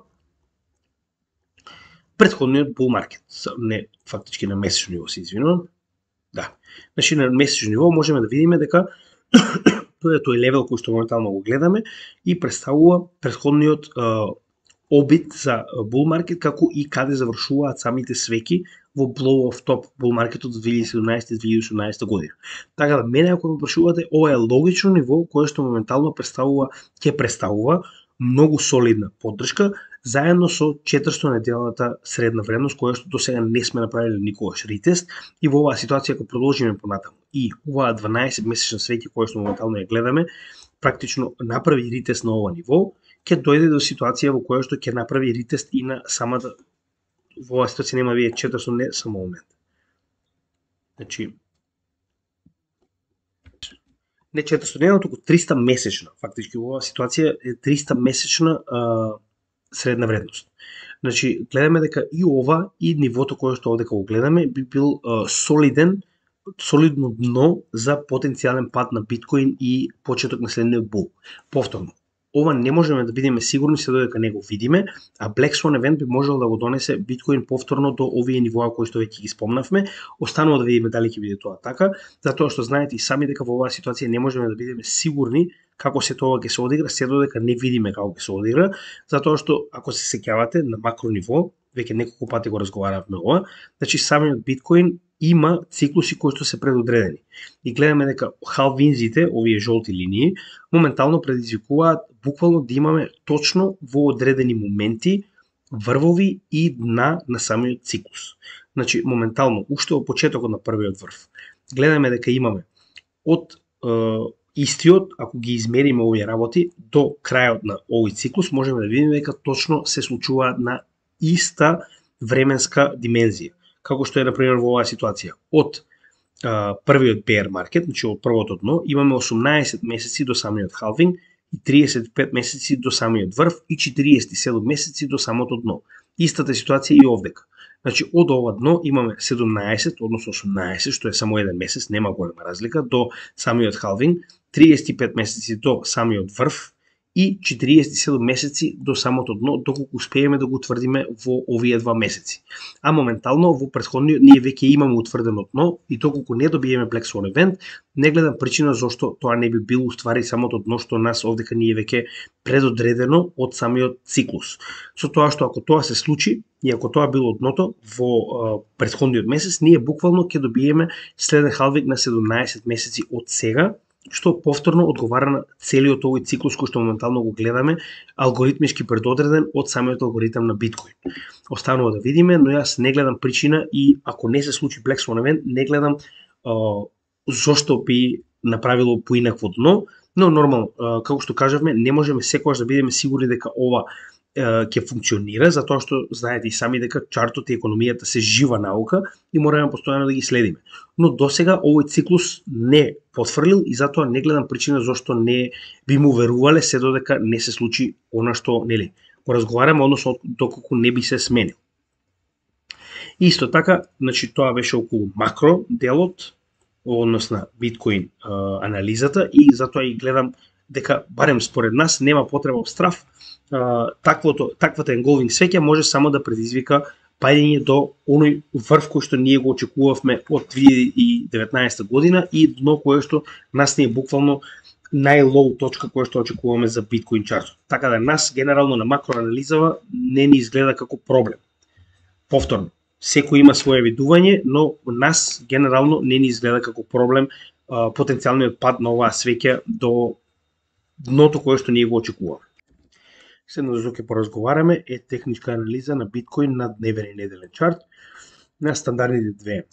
претходниот бул маркет. Не, фактички на месечно ниво, се извинувам. Да. Значи, на месечно ниво можеме да видиме дека тоа е тој левел кој што моментално го гледаме и представува претходниот обид за бул маркет, како и каде завршуваат самите свеки во blow of top бул маркетот за 2017-2018 година. Така да, мене ако ме прашувате, ова е логично ниво кое што моментално ќе представува многу солидна поддршка, заедно со 400 неделната средна вредност, која што до сега не сме направиле никогаш ретест и во оваа ситуација ако продолжиме понатаму и оваа 12 месечна свеќа која што моментално ја гледаме, практично направи ретест на ова ниво, ќе дојде до ситуација во која што ќе направи ретест и на самата во оваа ситуација нема вие 400 не само момент. Значи не 400 дневна, туку 300 месечна. Фактички во оваа ситуација е 300 месечна средна вредност. Значи гледаме дека и ова и нивото кое што овдека го гледаме би бил солидно дно за потенцијален пат на биткоин и почеток на следниот бул. Повторно, ова не можеме да бидеме сигурни се додека не го видиме, а Black Swan event би можел да го донесе биткоин повторно до овие нивоа кои што веќе ги спомнавме. Останува да видиме дали ќе биде тоа така, затоа што знаете и сами дека во оваа ситуација не можеме да бидеме сигурни како се тоа ќе се одигра, се додека не видиме како ќе се одигра, затоа што ако се сеќавате на макро ниво, веќе неколку пати го разговаравме ова, значи самиот биткоин има циклуси кои што се предодредени. И гледаме дека халвинзите, овие жолти линии, моментално предизвикуваат буквално да имаме точно во одредени моменти врвови и дна на самиот циклус. Значи, моментално, уште во почетокот на првиот врв, гледаме дека имаме од истиот, ако ги измериме овие работи, до крајот на овој циклус можеме да видиме дека точно се случува на иста временска димензија. Како што е, например, во оваа ситуација. Од првиот bear market, значи од првото дно, имаме 18 месеци до самиот халвинг, и 35 месеци до самиот врв и 47 месеци до самото дно. Истата ситуација и овдека. Значи, од ова дно имаме 17, односно 18, што е само еден месец, нема голема разлика, до самиот халвинг, 35 месеци до самиот врв и 47 месеци до самото дно, доколку успееме да го утврдиме во овие два месеци. А моментално во претходниот ние веќе имаме утврдено дно и доколку не добиеме Black Swan event, не гледам причина зошто тоа не би било уствари самото дно што нас овдека ние веќе предодредено од самиот циклус. Со тоа што ако тоа се случи и ако тоа било дното во претходниот месец, ние буквално ќе добиеме следен халвинг на 17 месеци од сега, што повторно одговара на целиот овој циклус кој што моментално го гледаме, алгоритмички предодреден од самиот алгоритам на биткоин. Останува да видиме, но јас не гледам причина и ако не се случи Black Swan event, не гледам зошто би направило поинакво дно, но нормално, како што кажавме, не можеме секогаш да бидеме сигурни дека ова ќе функционира, затоа што знаете и сами дека чартот и економијата се жива наука и мораме постојано да ги следиме. Но досега овој циклус не потврлил и затоа не гледам причина зошто не би му верувале се додека не се случи она што, нели, го разговараме, односно доколку не би се сменил. Исто така, значи тоа беше околу макро делот, односно биткоин анализата и затоа и гледам дека барем според нас нема потреба од страф. Таквата engulfing свеќа може само да предизвика паѓање до оној врв кој што ние го очекувавме од 2019 година и дно кое што нас не е буквално најлоу точка која што очекуваме за биткоин чартот. Така да нас генерално на макроанализава не ни изгледа како проблем. Повторно, секој има свое видување, но нас генерално не ни изгледа како проблем потенцијалниот пад на оваа свеќа до дното кое што ние го очекуваме. Следно за ќе поразговараме е техничка анализа на биткоин на дневен и неделен чарт на стандардните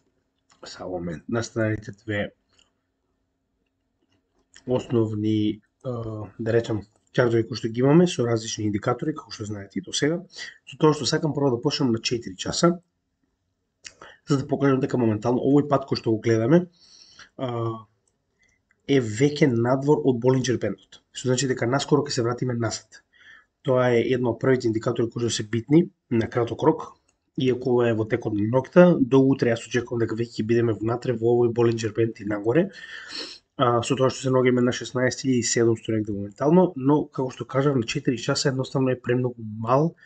две основни да речам чартови кои што ги имаме со различни индикатори, како што знаете и до сега. Со тоа што сакам прво да почнем на 4 часа, за да покажам дека моментално овој пат кој што го гледаме е веќе надвор од Болинџер бендот. Што значи дека наскоро ќе се вратиме назад. Тоа е едно од првите индикатори кои што се битни на краток рок, иако ова е во текот на ноќта, до утре јас очекувам дека веќе ќе бидеме внатре во овој Болинџер бенд и нагоре. Со тоа што се наоѓаме на 16.700 негде моментално, но како што кажав на 4 часа едноставно е премногу мал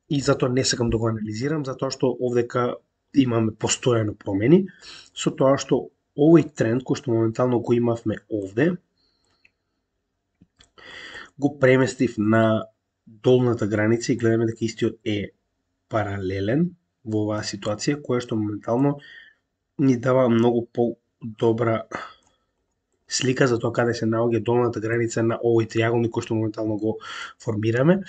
и затоа не сакам да го анализирам, затоа што овдека имаме постојано промени, со тоа што овој тренд кој што моментално го имавме овде, го преместив на долната граница и гледаме дека истиот е паралелен во оваа ситуација, која што моментално ни дава многу по-добра слика за тоа каде се наоѓа долната граница на овој триаголник кој што моментално го формираме.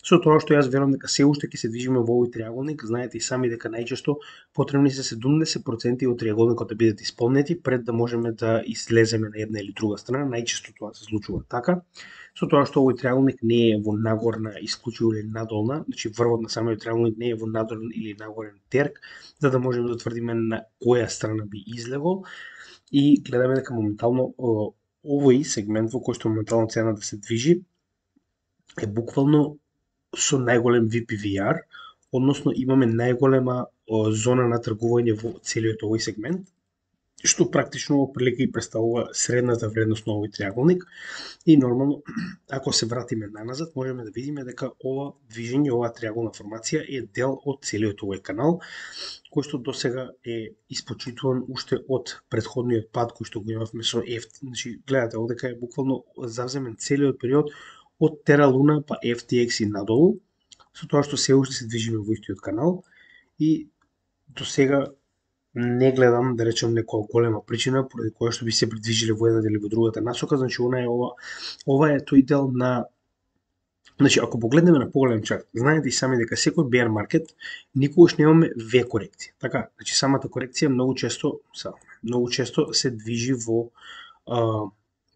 Со тоа што јас верувам дека се уште ќе се движиме во овој триаголник, знаете и сами дека најчесто потребни се 70% од триаголникот да бидат исполнети пред да можеме да излеземе на една или друга страна. Најчесто тоа се случува така. Со тоа што овој триаголник не е во нагорна исклучиво или надолна, значи врвот на самиот триаголник не е во надолен или нагорен терк, за да можеме да тврдиме на која страна би излегол. И гледаме дека моментално овој сегмент во кој што моментално цената се движи е буквално со најголем VPVR, односно имаме најголема зона на тргување во целиот овој сегмент, што практично прилика и представува средната вредност на овој триаголник. И нормално, ако се вратиме наназад, можеме да видиме дека ова движење, оваа триаголна формација е дел од целиот овој канал, кој што досега е испочитуван уште од претходниот пад кој што го имавме со FT. Значи, гледате, овдека е буквално завземен целиот период од Terra Luna па FTX и надолу, со тоа што се уште се движиме во истиот канал и до сега не гледам, да речем, некоја голема причина поради која што би се придвижиле во едната или во другата насока. Значи, ова е тој дел на... Значи, ако погледнеме на поголем чарт, знаете и сами дека секој bear market никогаш немаме V корекција. Така, значи самата корекција многу често се движи во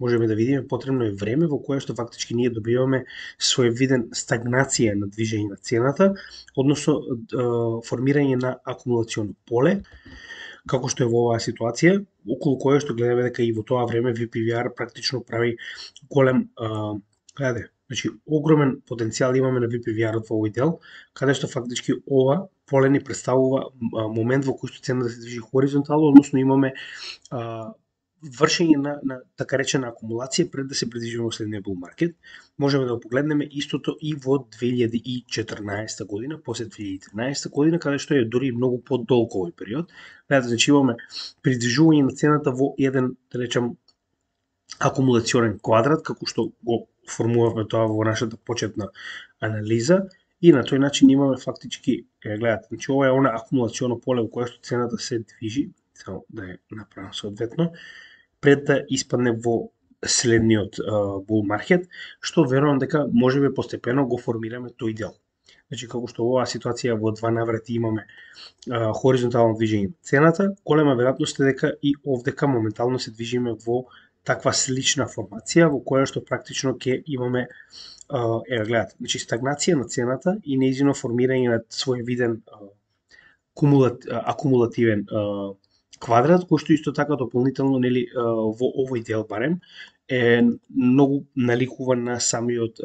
можеме да видиме, потребно е време во кое што фактички ние добиваме своевиден стагнација на движење на цената, односно формирање на акумулационо поле, како што е во оваа ситуација, околу кое што гледаме дека и во тоа време VPVR практично прави голем, значи огромен потенцијал имаме на VPVR во овој дел, каде што фактички ова поле ни представува момент во кој што цената се движи хоризонтално, односно имаме вршење на така речена акумулација пред да се придвижиме во следниот bull market. Можеме да го погледнеме истото и во 2014 година, после 2013 година, каде што е дури многу подолг овој период. Значи имаме придвижување на цената во еден, да речем, акумулационен квадрат, како што го формувавме тоа во нашата почетна анализа, и на тој начин имаме фактички, гледате, значи ова е она акумулационо поле во кое што цената се движи, само да ја направам соодветно, пред да испадне во следниот bull market, што верувам дека можеме постепено го формираме тој дел. Значи, како што во оваа ситуација во два наврати имаме хоризонтално движење на цената, голема веројатност е дека и овдека моментално се движиме во таква слична формација, во која што практично ќе имаме гледате, значи стагнација на цената и нејзино формирање на своевиден акумулативен квадрат, кој што исто така дополнително, нели, во овој дел барем е многу наликува на самиот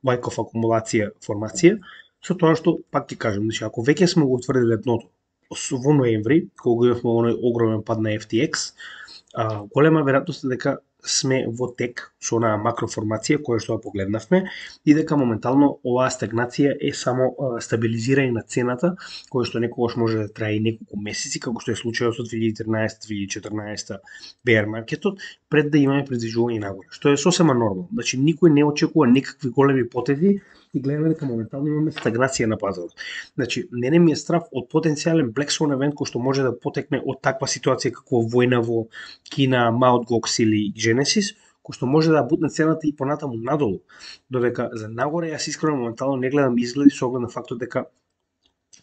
Wyckoff акумулација формација, со тоа што пак ќе кажам, значи ако веќе сме го утврдиле дното во ноември, кога имавме оној огромен пад на FTX, голема веројатност е дека сме во тек со онаа макроформација која што ја погледнавме и дека моментално оваа стагнација е само стабилизирање на цената, која што некогаш може да трае и неколку месеци, како што е случајот со 2013-2014 bear маркетот, пред да имаме придвижување нагоре, што е сосема нормално. Значи никој не очекува никакви големи потези и гледаме дека моментално имаме стагнација на пазарот. Значи, мене ми е страв од потенцијален Black Swan евент кој што може да потекне од таква ситуација како војна во Кина, Mt. Gox или Genesis, кој што може да бутне цената и понатаму надолу. Додека за нагоре јас искрено моментално не гледам изгледи со оглед на фактот дека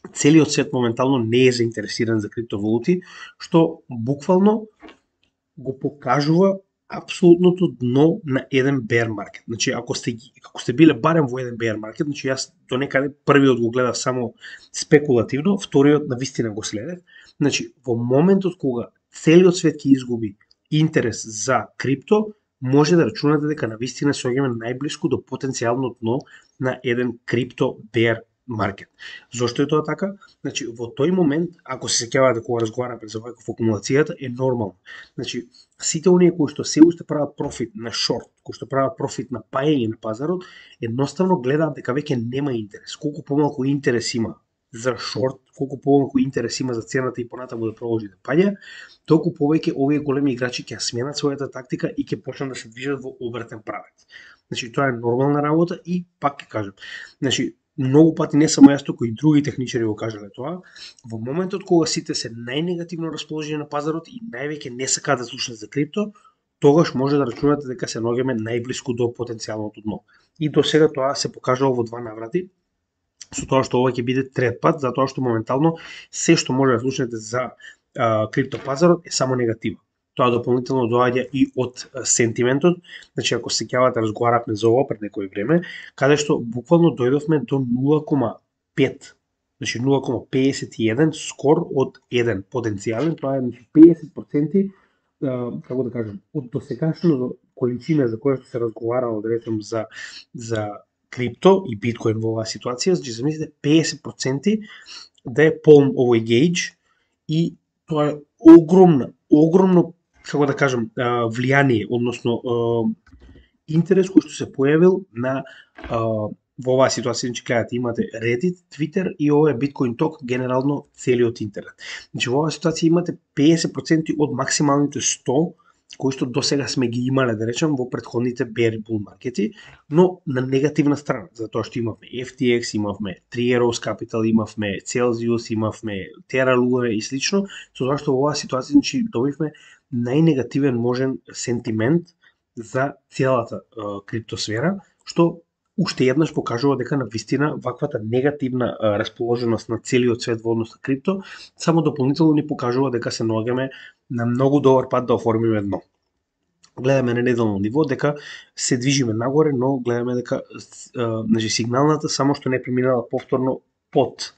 целиот свет моментално не е заинтересиран за криптовалути, што буквално го покажува апсолутното дно на еден bear маркет. Значи, ако сте биле барем во еден bear маркет, значи јас до некаде првиот го гледав само спекулативно, вториот на вистина го следев. Значи, во моментот кога целиот свет ќе изгуби интерес за крипто, може да рачунате дека на вистина се оѓаме најблиску до потенцијално дно на еден крипто bear маркет. Зошто е тоа така? Значи, во тој момент, ако се сеќавате кога разговараме за Wyckoff акумулацијата, е нормално. Значи, сите оние кои што се уште прават профит на шорт, кои што прават профит на паење на пазарот, едноставно гледаат дека веќе нема интерес. Колку помалку интерес има за шорт, колку помалку интерес има за цената и понатаму да продолжи да паѓа, толку повеќе овие големи играчи ќе сменат својата тактика и ќе почнат да се движат во обратен правец. Значи, тоа е нормална работа и пак ќе кажам, значи, многу пати не само јас, туку и други техничари го кажале тоа, во моментот кога сите се најнегативно расположени на пазарот и највеќе не сакаат да слушнат за крипто, тогаш може да рачунате дека се наоѓаме најблиску до потенцијалното дно. И до сега тоа се покажало во два наврати, со тоа што ова ќе биде трет пат, затоа што моментално се што може да слушнете за криптопазарот е само негатива. Тоа дополнително доаѓа и од сентиментот, значи ако се сеќавате разговаравме за ова пред некој време, каде што буквално дојдовме до 0,5, значи 0,51 скор од 1 потенцијален, тоа е 50%, како да кажам, од досегашната количина за која што се разговарало, да речем, за крипто и биткоин во оваа ситуација, значи замислите 50% да е полн овој гейдж и тоа е огромно, како да кажам, влијание, односно интерес кој што се појавил на во оваа ситуација, значи гледате, имате Reddit, Twitter и ова е Bitcoin Talk, генерално целиот интернет. Значи во оваа ситуација имате 50% од максималните 100 кои што досега сме ги имале, да речем, во претходните bear bull маркети, но на негативна страна, затоа што имавме FTX, имавме Three Arrows Capital, имавме Celsius, имавме Terra Luna и слично, со тоа што во оваа ситуација, значи, добивме најнегативен можен сентимент за целата криптосфера, што уште еднаш покажува дека на вистина ваквата негативна расположеност на целиот свет во однос на крипто само дополнително ни покажува дека се наоѓаме на многу добар пат да оформиме дно. гледаме на неделно ниво дека се движиме нагоре, но гледаме дека значи сигналната само што не преминала повторно под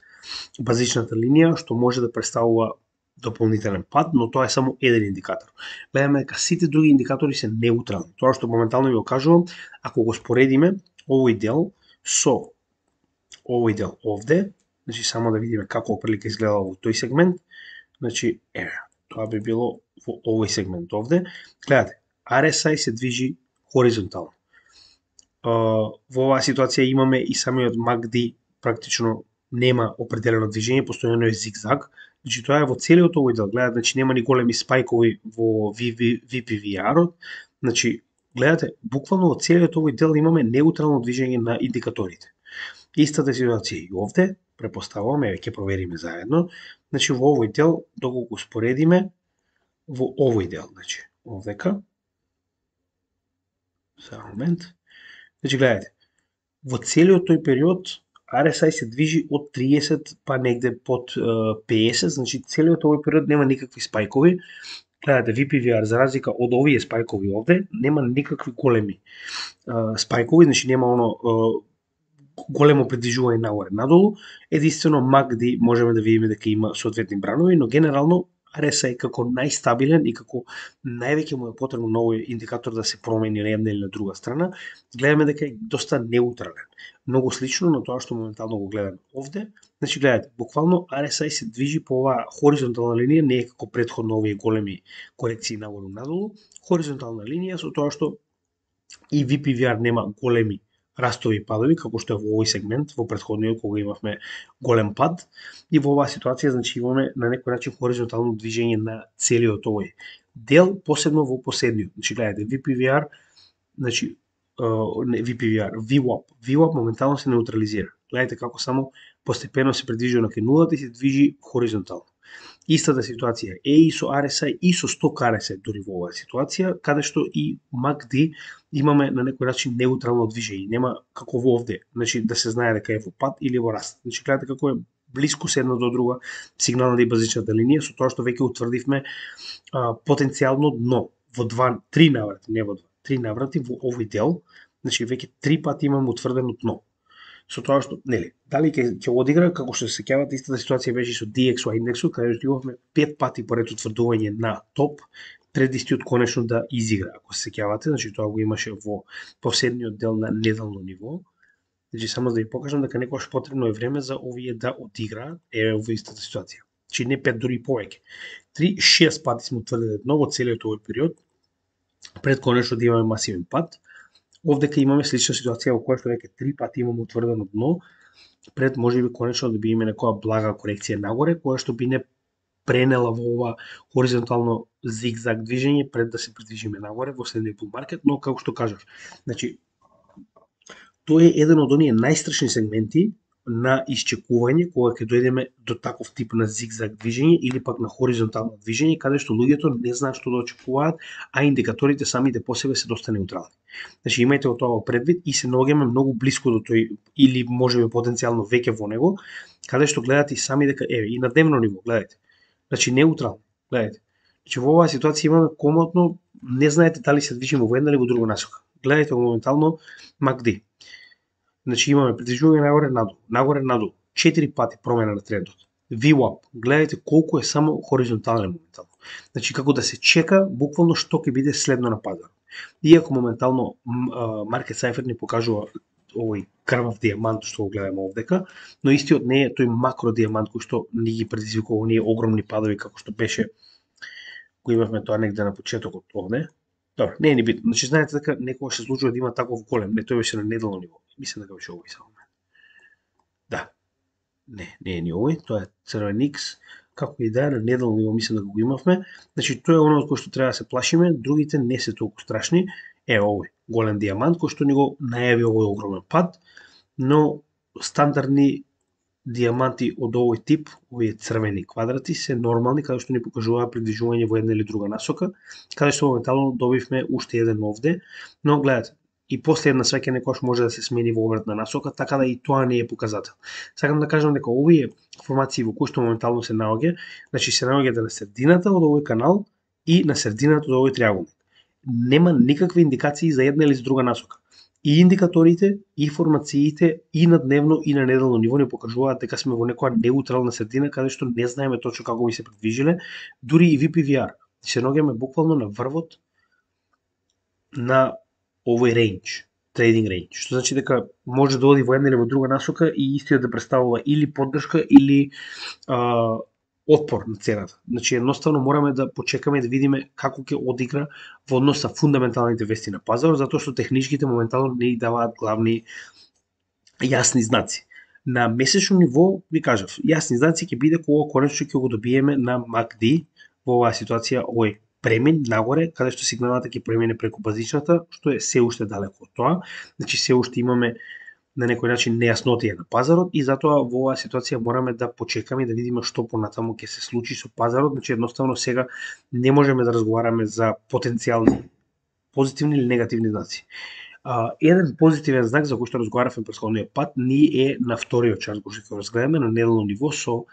базичната линија, што може да представува дополнителен пат, но тоа е само еден индикатор. Гледаме дека сите други индикатори се неутрални. Тоа што моментално ви го кажувам, ако го споредиме овој дел со овој дел овде, значи само да видиме како оприлика изгледа во тој сегмент, значи тоа би било во овој сегмент овде. Гледате, RSI се движи хоризонтално. Во оваа ситуација имаме и самиот MACD практично нема определено движење, постојано е зигзаг. Значи тоа е во целиот овој дел. Гледате, значи нема ни големи спајкови во VPVR-от. Значи гледате, буквално во целиот овој дел имаме неутрално движење на индикаторите. Истата ситуација и овде, препоставуваме, ќе провериме заедно. Значи во овој дел, доколку го споредиме во овој дел, значи овдека. За момент. Значи гледате, во целиот тој период RSI се движи од 30 па негде под 50, значи целиот овој период нема никакви спајкови. Гледате, VPVR за разлика од овие спајкови овде, нема никакви големи спајкови, значи нема оно големо придвижување нагоре надолу. Единствено MACD можеме да видиме дека има соодветни бранови, но генерално RSI како најстабилен и како највеќе му е потребно на овој индикатор да се промени на една или на друга страна, гледаме дека е доста неутрален. Многу слично на тоа што моментално го гледаме овде. Значи гледате, буквално RSI се движи по оваа хоризонтална линија, не е како претходно овие големи корекции нагору надолу, хоризонтална линија со тоа што и VPVR нема големи растови и падови, како што е во овој сегмент, во претходниот кога имавме голем пад, и во оваа ситуација значи имаме на некој начин хоризонтално движење на целиот овој дел, посебно во последниот. Значи гледате, VPVR, значи VWAP моментално се неутрализира. Гледате како само постепено се придвижува на нулата и се движи хоризонтално. Истата ситуација е и со RSI и со сток RSI дури во оваа ситуација, каде што и MACD имаме на некој начин неутрално движење, нема како во овде, значи да се знае дека е во пад или во раст. Значи гледате како е блиску се една до друга сигналната и базичната линија, со тоа што веќе утврдивме потенцијално дно во 3 наврати, не во 2, 3 наврати во овој дел, значи веќе 3 пати имаме утврдено дно. Со тоа што, нели, дали ќе одигра, како што се сеќавате, истата ситуација беше со DXY индексот, каде што имавме 5 пати поред утврдување на топ, пред истиот конечно да изигра, ако се сеќавате, значи тоа го имаше во последниот дел на неделно ниво. Значи само да ви покажам дека некогаш потребно е време за овие да одиграат, во истата ситуација. Значи не 5, дури и повеќе. 3-6 пати сме утврдили дно во целиот овој период, пред конечно да имаме масивен пат. Овдека имаме слична ситуација во која што веќе 3 пати имаме утврдено дно, пред можеби конечно да би имаме некоја блага корекција нагоре, која што би не пренела во ова хоризонтално зигзаг движење пред да се придвижиме нагоре во следниот bull market, но како што кажав, значи тоа е еден од оние најстрашни сегменти на исчекување кога ќе дојдеме до таков тип на зигзаг движење или пак на хоризонтално движење, каде што луѓето не знаат што да очекуваат, а индикаторите самите по себе се доста неутрални. Значи имајте тоа во предвид и се наоѓаме многу блиску до тој или можеби потенцијално веќе во него, каде што гледате и сами дека и на дневно ниво, гледате. Значи неутрално, гледате. Значи во оваа ситуација имаме комотно, не знаете дали се движиме во една или во друга насока. Гледате моментално MACD. Значи имаме придвижување нагоре надолу, 4 пати промена на трендот. VWAP, гледате колку е само хоризонтален моментално. Значи како да се чека буквално што ќе биде следно на пазарот. Иако моментално Market Cypher ни покажува овој крвав дијамант што го гледаме овдека, но истиот не е тој макро дијамант кој што ни ги предизвикува оние огромни падови како што беше кој имавме тоа негде на почетокот овде. Добро, не е ни битно. Значи знаете дека некогаш се случува да има таков голем, не тој беше на неделно ниво. Мислам дека беше овој само. Да. Не е ни овој, тоа е црвен X. Како и да е, на неделно ниво мислам дека го имавме. Значи тоа е оно од кој што треба да се плашиме, другите не се толку страшни. Овој голем дијамант кој што ни го најави овој огромен пад, но стандардни дијаманти од овој тип, овие црвени квадрати, се нормални, каде што ни покажуваат придвижување во една или друга насока, каде што моментално добивме уште еден овде, но гледате, и после една свеќе некојаш може да се смени во обратна насока, така да и тоа не е показател. Сакам да кажам дека овие формации во кои што моментално се наоѓа, значи се наоѓате на средината од овој канал и на средината од овој триаголник. нема никакви индикации за една или за друга насока. И индикаторите, и формациите, и на дневно, и на неделно ниво ни покажуваат дека сме во некоја неутрална средина, каде што не знаеме точно како би се предвижиле, дури и VPVR. Се наоѓаме буквално на врвот на овој рейндж, трейдинг рейндж, што значи дека може да оди во една или во друга насока и истиот да представува или поддршка или отпор на цената. Значи едноставно мораме да почекаме и да видиме како ќе одигра во однос со фундаменталните вести на пазарот, затоа што техничките моментално не ги даваат главни јасни знаци. На месечно ниво, ви кажав, јасни знаци ќе биде кога конечно ќе го добиеме на MACD во оваа ситуација, овој премин нагоре, каде што сигналата ќе премине преку базичната, што е се уште далеко од тоа. Значи се уште имаме на некој начин нејаснотија на пазарот и затоа во оваа ситуација мораме да почекаме и да видиме што понатаму ќе се случи со пазарот. Значи едноставно сега не можеме да разговараме за потенцијални позитивни или негативни знаци. Еден позитивен знак за кој што разговаравме претходниот пат ни е на вториот чарт кој што ќе разгледаме на неделно ниво со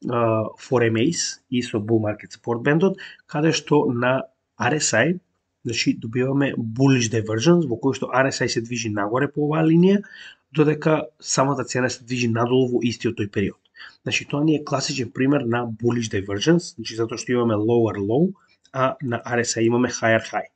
4MAs и со Bull Market Support Band-от, каде што на RSI, значи добиваме bullish divergence во кој што RSI се движи нагоре по оваа линија, додека самата цена се движи надолу во истиот тој период. Значи тоа ни е класичен пример на bullish divergence, значи затоа што имаме lower low, а на RSI имаме higher high.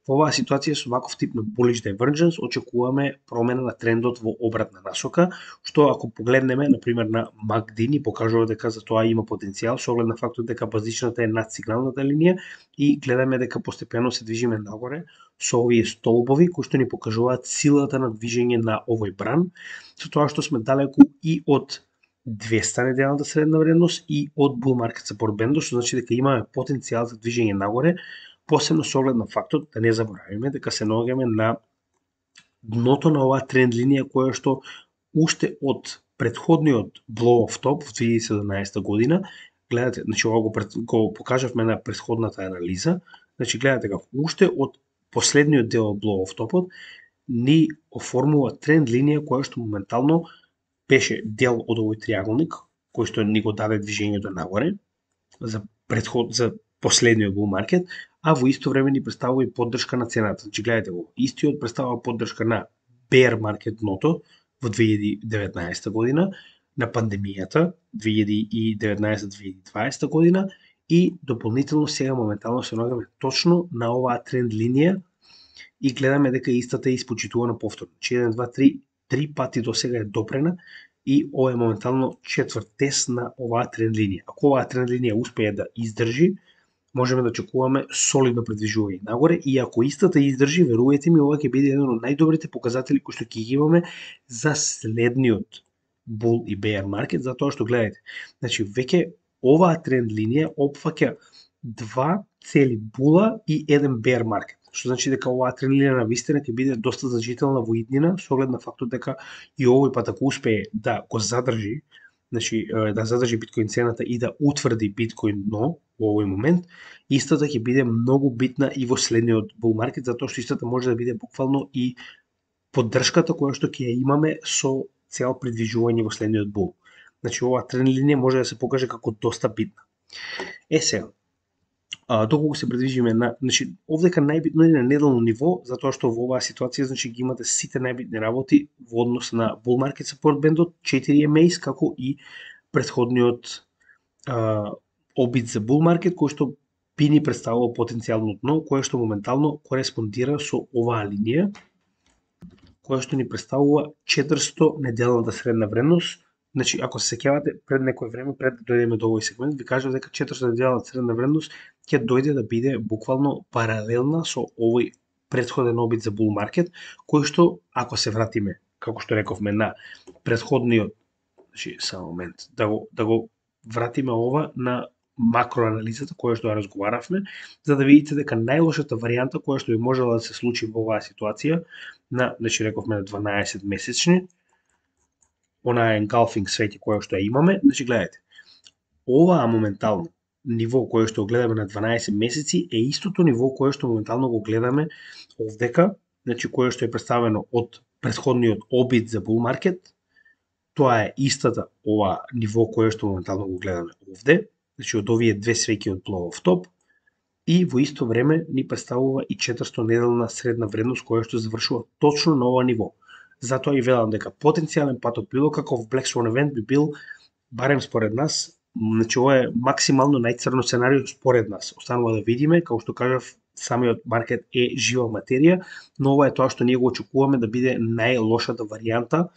Во оваа ситуација со ваков тип на bullish divergence очекуваме промена на трендот во обратна насока, што ако погледнеме на пример на MACD ни покажува дека за тоа има потенцијал со оглед на фактот дека базичната е над сигналната линија и гледаме дека постепено се движиме нагоре со овие столбови кои што ни покажуваат силата на движење на овој бран, со тоа што сме далеку и од 200 неделната средна вредност и од Bull Market Support Band, што значи дека имаме потенцијал за движење нагоре, посебно со оглед на фактот да не заборавиме дека се наоѓаме на дното на оваа тренд линија која што уште од претходниот blow off top во 2017 година, гледате, значи ова го покажавме на претходната анализа, значи гледате како уште од последниот дел од blow off topот ни оформува тренд линија која што моментално беше дел од овој триаголник кој што ни го даде движењето нагоре за последниот bull market, а во исто време ни представува и поддршка на цената. Значи гледате го, истиот представува поддршка на bear market дното во 2019 година, на пандемијата 2019-2020 година и дополнително сега моментално се наоѓаме точно на оваа тренд линија и гледаме дека истата е испочитувана повторно. Значи 1, 2, 3 пати до сега е допрена и ова е моментално четврт тест на оваа тренд линија. Ако оваа тренд линија успее да издржи, можеме да очекуваме солидно предвижување нагоре и ако истата издржи, верувајте ми, ова ќе биде еден од најдобрите показатели кои што ќе ги имаме за следниот bull и bear market, затоа што гледајте, значи веќе оваа тренд линија опфаќа два цели була и еден bear market, што значи дека оваа тренд линија на вистина ќе биде доста значителна во иднина со оглед на фактот дека и овој пат ако успее да го задржи, значи да задржи биткоин цената и да утврди биткоин дно во овој момент, истата ќе биде многу битна и во следниот bull market, затоа што истата може да биде буквално и поддршката која што ќе ја имаме со цел придвижување во следниот bull. Значи оваа тренд линија може да се покаже како доста битна. Сега, доколку се придвижиме на, значи овдека најбитно е на неделно ниво, затоа што во оваа ситуација значи ги имате сите најбитни работи во однос на Bull Market Support Band-от, 4MAs, како и претходниот обид за Bull Market, кој што би ни представува потенцијално дно, кое што моментално кореспондира со оваа линија, која што ни представува 400 неделната средна вредност. Значи, ако се сеќавате, пред некој време, пред да дојдеме до овој сегмент, ви кажав дека 400 неделната средна вредност ќе дојде да биде буквално паралелна со овој претходен обид за bull market, кој што, ако се вратиме, како што рековме, на претходниот, значи, само момент, да го вратиме ова на макроанализата која што ја разговаравме, за да видите дека најлошата варијанта која што би можела да се случи во оваа ситуација, на, значи рековме на 12 месечни, онаа engulfing свети која што ја имаме, значи гледате, оваа моментално ниво кое што гледаме на 12 месеци е истото ниво кое што моментално го гледаме овдека, значи кое што е представено од претходниот обид за bull market, тоа е истата ова ниво кое што моментално го гледаме овде, значи од овие две свеќи од blow off top, и во исто време ни представува и 400 неделна средна вредност која што завршува точно на ова ниво. Затоа и велам дека потенцијален пат од било каков Black Swan event би бил, барем според нас, значи ова е максимално најцрно сценарио според нас. Останува да видиме, како што кажав, самиот маркет е жива материја, но ова е тоа што ние го очекуваме да биде најлошата варијанта.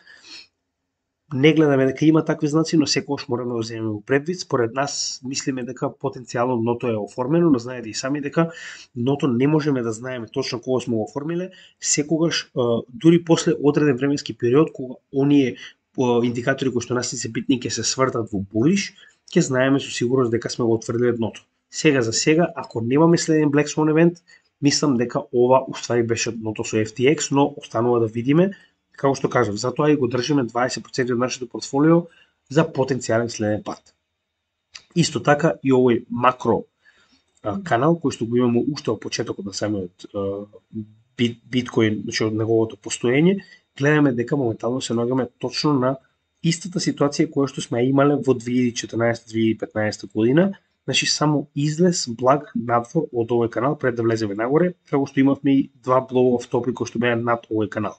Не гледаме дека има такви знаци, но секогаш мораме да го земеме во предвид. Според нас мислиме дека потенцијално дното е оформено, но знаете и сами дека дното не можеме да знаеме точно кога сме го оформиле, секогаш дури после одреден временски период кога оние индикатори кои што нас не се битни ќе се свртат во булиш, ќе знаеме со сигурност дека сме го отврдиле дното. Сега за сега, ако немаме следен Black Swan event, мислам дека ова уствари беше дното со FTX, но останува да видиме. Како што кажав, затоа и го држиме 20% од нашето портфолио за потенцијален следен пат. Исто така и овој макро канал кој што го имаме уште од почетокот на самиот биткоин, значи од неговото постоење, гледаме дека моментално се наоѓаме точно на истата ситуација која што сме имале во 2014-2015 година, значи само излез благ надвор од овој канал пред да влеземе нагоре, како што имавме и два блоу топли кои што беа над овој канал.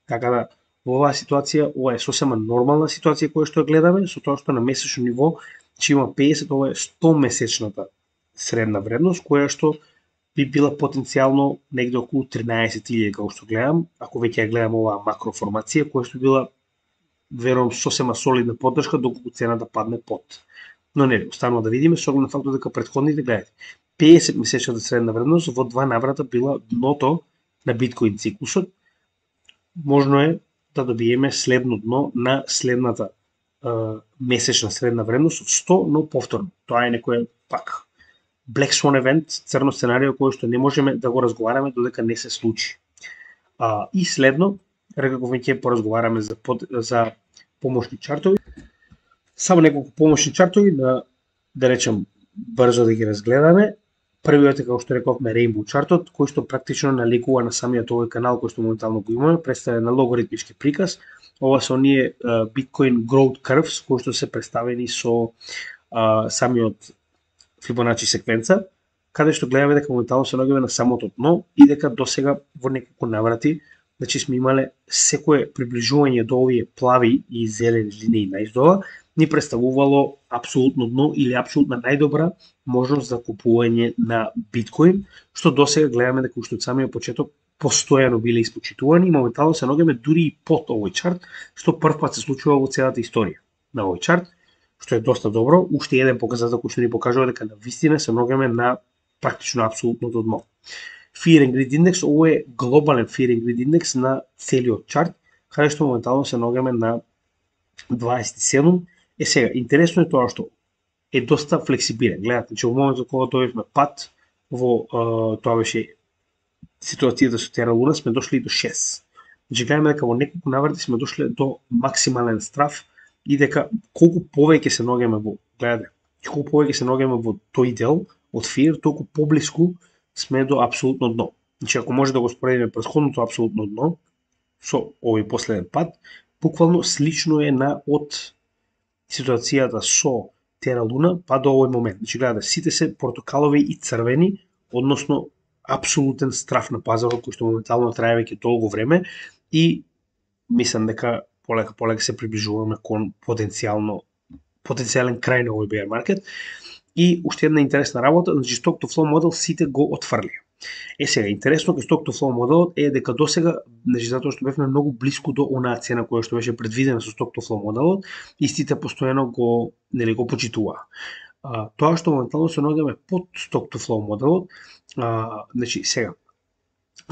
Така да, во оваа ситуација, ова е сосема нормална ситуација која што ја гледаме, со тоа што на месечно ниво, че има 50, ова е 100 месечната средна вредност, која што би била потенцијално негде околу 13.000, како што гледам, ако веќе ја гледам оваа макроформација, која што била, верувам, сосема солидна поддршка, доколку цената падне под. Но не, останува да видиме, со оглед на фактот дека претходните, гледате, 50 месечната средна вредност во два наврата била дното на биткоин циклусот. Можно е да добиеме следно дно на следната месечна средна вредност од 100, но повторно. Тоа е некој пак Black Swan event, црно сценарио кој што не можеме да го разговараме додека не се случи. И следно, рекако веќе поразговараме за помошни чартови. Само неколку помошни чартови да речем брзо да ги разгледаме. Првиот е, како што рековме, Rainbow чартот, кој што практично наликува на самиот овој канал кој што моментално го имаме, представен на логоритмички приказ. Ова се оние Bitcoin Growth Curves кои што се представени со самиот Fibonacci секвенца, каде што гледаме дека моментално се наоѓаме на самото дно и дека досега во неколку наврати, значи сме имале секое приближување до овие плави и зелени линии наиздола, ни представувало апсолутно дно или апсолутно најдобра можност за купување на биткоин, што досега гледаме дека уште од самиот почеток постојано биле испочитувани и моментално се наоѓаме дури и под овој чарт, што првпат се случува во целата историја на овој чарт, што е доста добро. Уште еден показател кој што ни покажува дека на вистина се наоѓаме на практично апсолутното дно. Fear and Greed Index, ово е глобален Fear and Greed Index на целиот чарт, каде што моментално се наоѓаме на 27. Сега, интересно е тоа што е доста флексибилен. Гледате, че во моментот кога дојдовме пат, во тоа беше ситуацијата со Terra Luna, сме дошли до 6. Значи гледаме дека во неколку наврати сме дошли до максимален страф и дека колку повеќе се наоѓаме во, гледате, колку повеќе се наоѓаме во тој дел од Fear, толку поблиску сме до апсолутно дно. Значи ако може да го споредиме претходното апсолутно дно со овој последен пат, буквално слично е на од ситуацијата со Terra Luna па до овој момент. Значи гледате, сите се портокалови и црвени, односно апсолутен страф на пазарот кој што моментално трае веќе толку време и мислам дека полека се приближуваме кон потенцијален крај на овој bear market. И уште една интересна работа, значи Stock to Flow модел сите го отфрли. Сега, интересно кај Stock to Flow моделот е дека досега, значи затоа што бевме многу блиску до онаа цена која што беше предвидена со Stock to Flow моделот, истите постојано го почитуваа. Тоа што моментално се наоѓаме под Stock to Flow моделот, значи сега,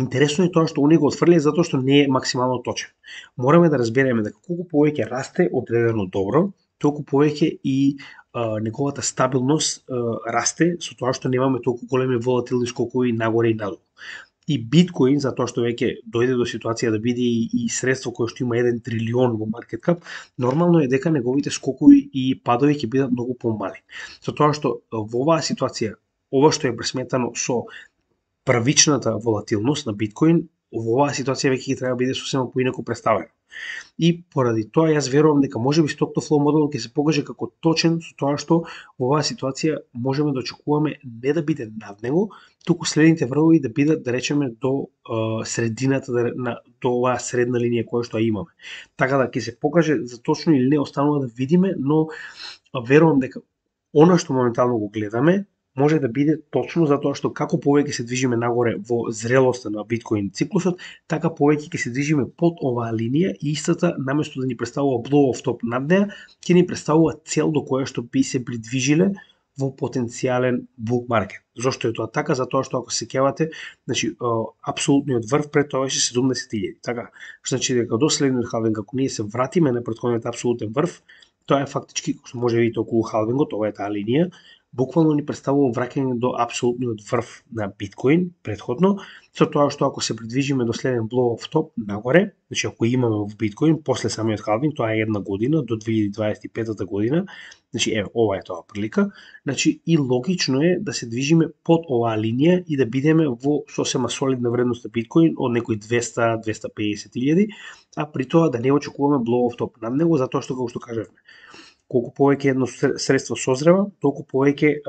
интересно е тоа што они го отфрлија затоа што не е максимално точен. Мораме да разбереме дека колку повеќе расте одредено добро, толку повеќе и неговата стабилност расте со тоа што немаме толку големи волатилни скокови нагоре и надолу. И биткоин, затоа што веќе дојде до ситуација да биде и средство кое што има 1 трилион во маркет кап, нормално е дека неговите скокови и падови ќе бидат многу помали. Со тоа што во оваа ситуација, ова што е пресметано со првичната волатилност на биткоин, во оваа ситуација веќе ќе треба да биде сосема поинаку представено. И поради тоа јас верувам дека можеби stock to flow моделот ќе се покаже како точен со тоа што во оваа ситуација можеме да очекуваме не да биде над него, туку следните врвови да бидат, да речеме, до средината до оваа средна линија која што ја имаме. Така да ќе се покаже за точно или не останува да видиме, но верувам дека она што моментално го гледаме може да биде точно затоа што како повеќе се движиме нагоре во зрелоста на биткоин циклусот, така повеќе ќе се движиме под оваа линија и истата наместо да ни представува blow off top над неа, ќе ни представува цел до која што би се придвижиле во потенцијален bull market. Зошто е тоа така? Затоа што ако се сеќавате, значи апсолутниот врв пред тоа беше 70.000. Така, значи дека до следниот халвинг ако ние се вратиме на претходниот апсолутен врв, тоа е фактички, што може да видите околу халвингот, ова е таа линија, буквално ни представува враќање до апсолутниот врв на биткоин предходно, со тоа што ако се придвижиме до следен blow off top нагоре, значи ако имаме во биткоин после самиот халвинг, тоа е една година до 2025 година, значи ова е тоа прилика, значи и логично е да се движиме под оваа линија и да бидеме во сосема солидна вредност на биткоин од некои 200-250.000, а при тоа да не очекуваме blow off top над него, затоа што како што кажавме, колку повеќе едно средство созрева, толку повеќе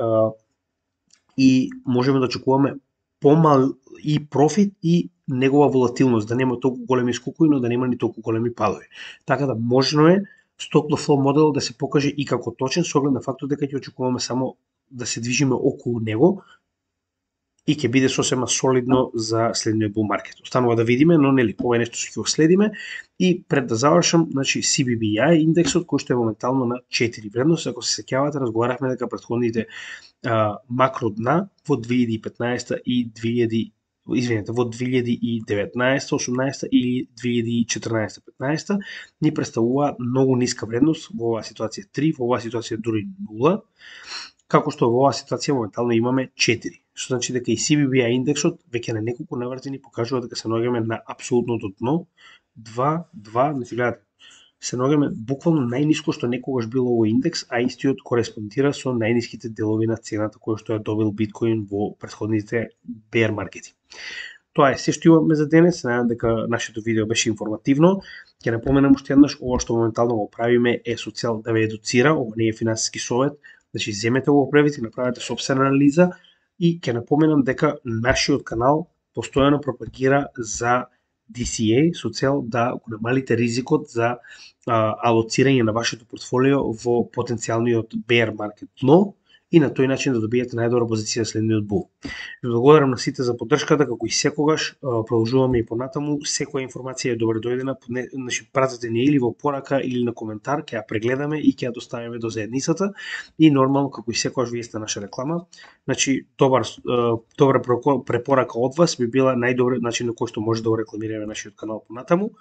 и можеме да очекуваме помал и профит и негова волатилност, да нема толку големи скокови, но да нема ни толку големи падови. Така да можно е stock to flow моделот да се покаже и како точен со оглед на фактот дека ќе очекуваме само да се движиме околу него и ќе биде сосема солидно за следниот bull market. Останува да видиме, но нели ова е нешто што ќе го следиме. И пред да завршам, значи CBBI индексот кој што е моментално на 4 вредност, ако се сеќавате, разговаравме дека претходните макро дна во 2015 и во 2019, 18 и 2014, 15 ни представува многу ниска вредност, во оваа ситуација 3, во оваа ситуација дури 0, како што во оваа ситуација моментално имаме 4. Што значи дека и CBBI индексот веќе на неколку наврати ни покажува дека се наоѓаме на апсолутното дно, 2, значи гледате, се наоѓаме буквално најниско што некогаш било овој индекс, а истиот кореспондира со најниските делови на цената која што ја добил биткоин во претходните bear маркети. Тоа е се што имаме за денес, се надевам дека нашето видео беше информативно. Ќе напоменам уште еднаш, ова што моментално го правиме е со цел да ве едуцира, ова не е финансиски совет, значи земете го превид и направете сопствена анализа и ќе напоменам дека нашиот канал постојано пропагира за DCA со цел да го намалите ризикот за алоцирање на вашето портфолио во потенцијалниот bear маркет дно и на тој начин да добиете најдобра позиција за следниот бул. Ви благодарам на сите за поддршката, како и секогаш, продолжуваме и понатаму, секоја информација е добре дојдена, значи пратете ни или во порака или на коментар, ќе ја прегледаме и ќе ја доставиме до заедницата и нормално како и секогаш вие сте наша реклама, значи добра препорака од вас би била најдобриот начин на кој што може да го рекламираме нашиот канал понатаму.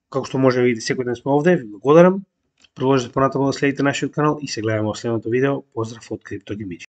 Како што може да видите, секој ден сме овде, ви благодарам. Продолжете понатаму да следите нашиот канал и се гледаме во следното видео. Поздрав од CryptoGaming.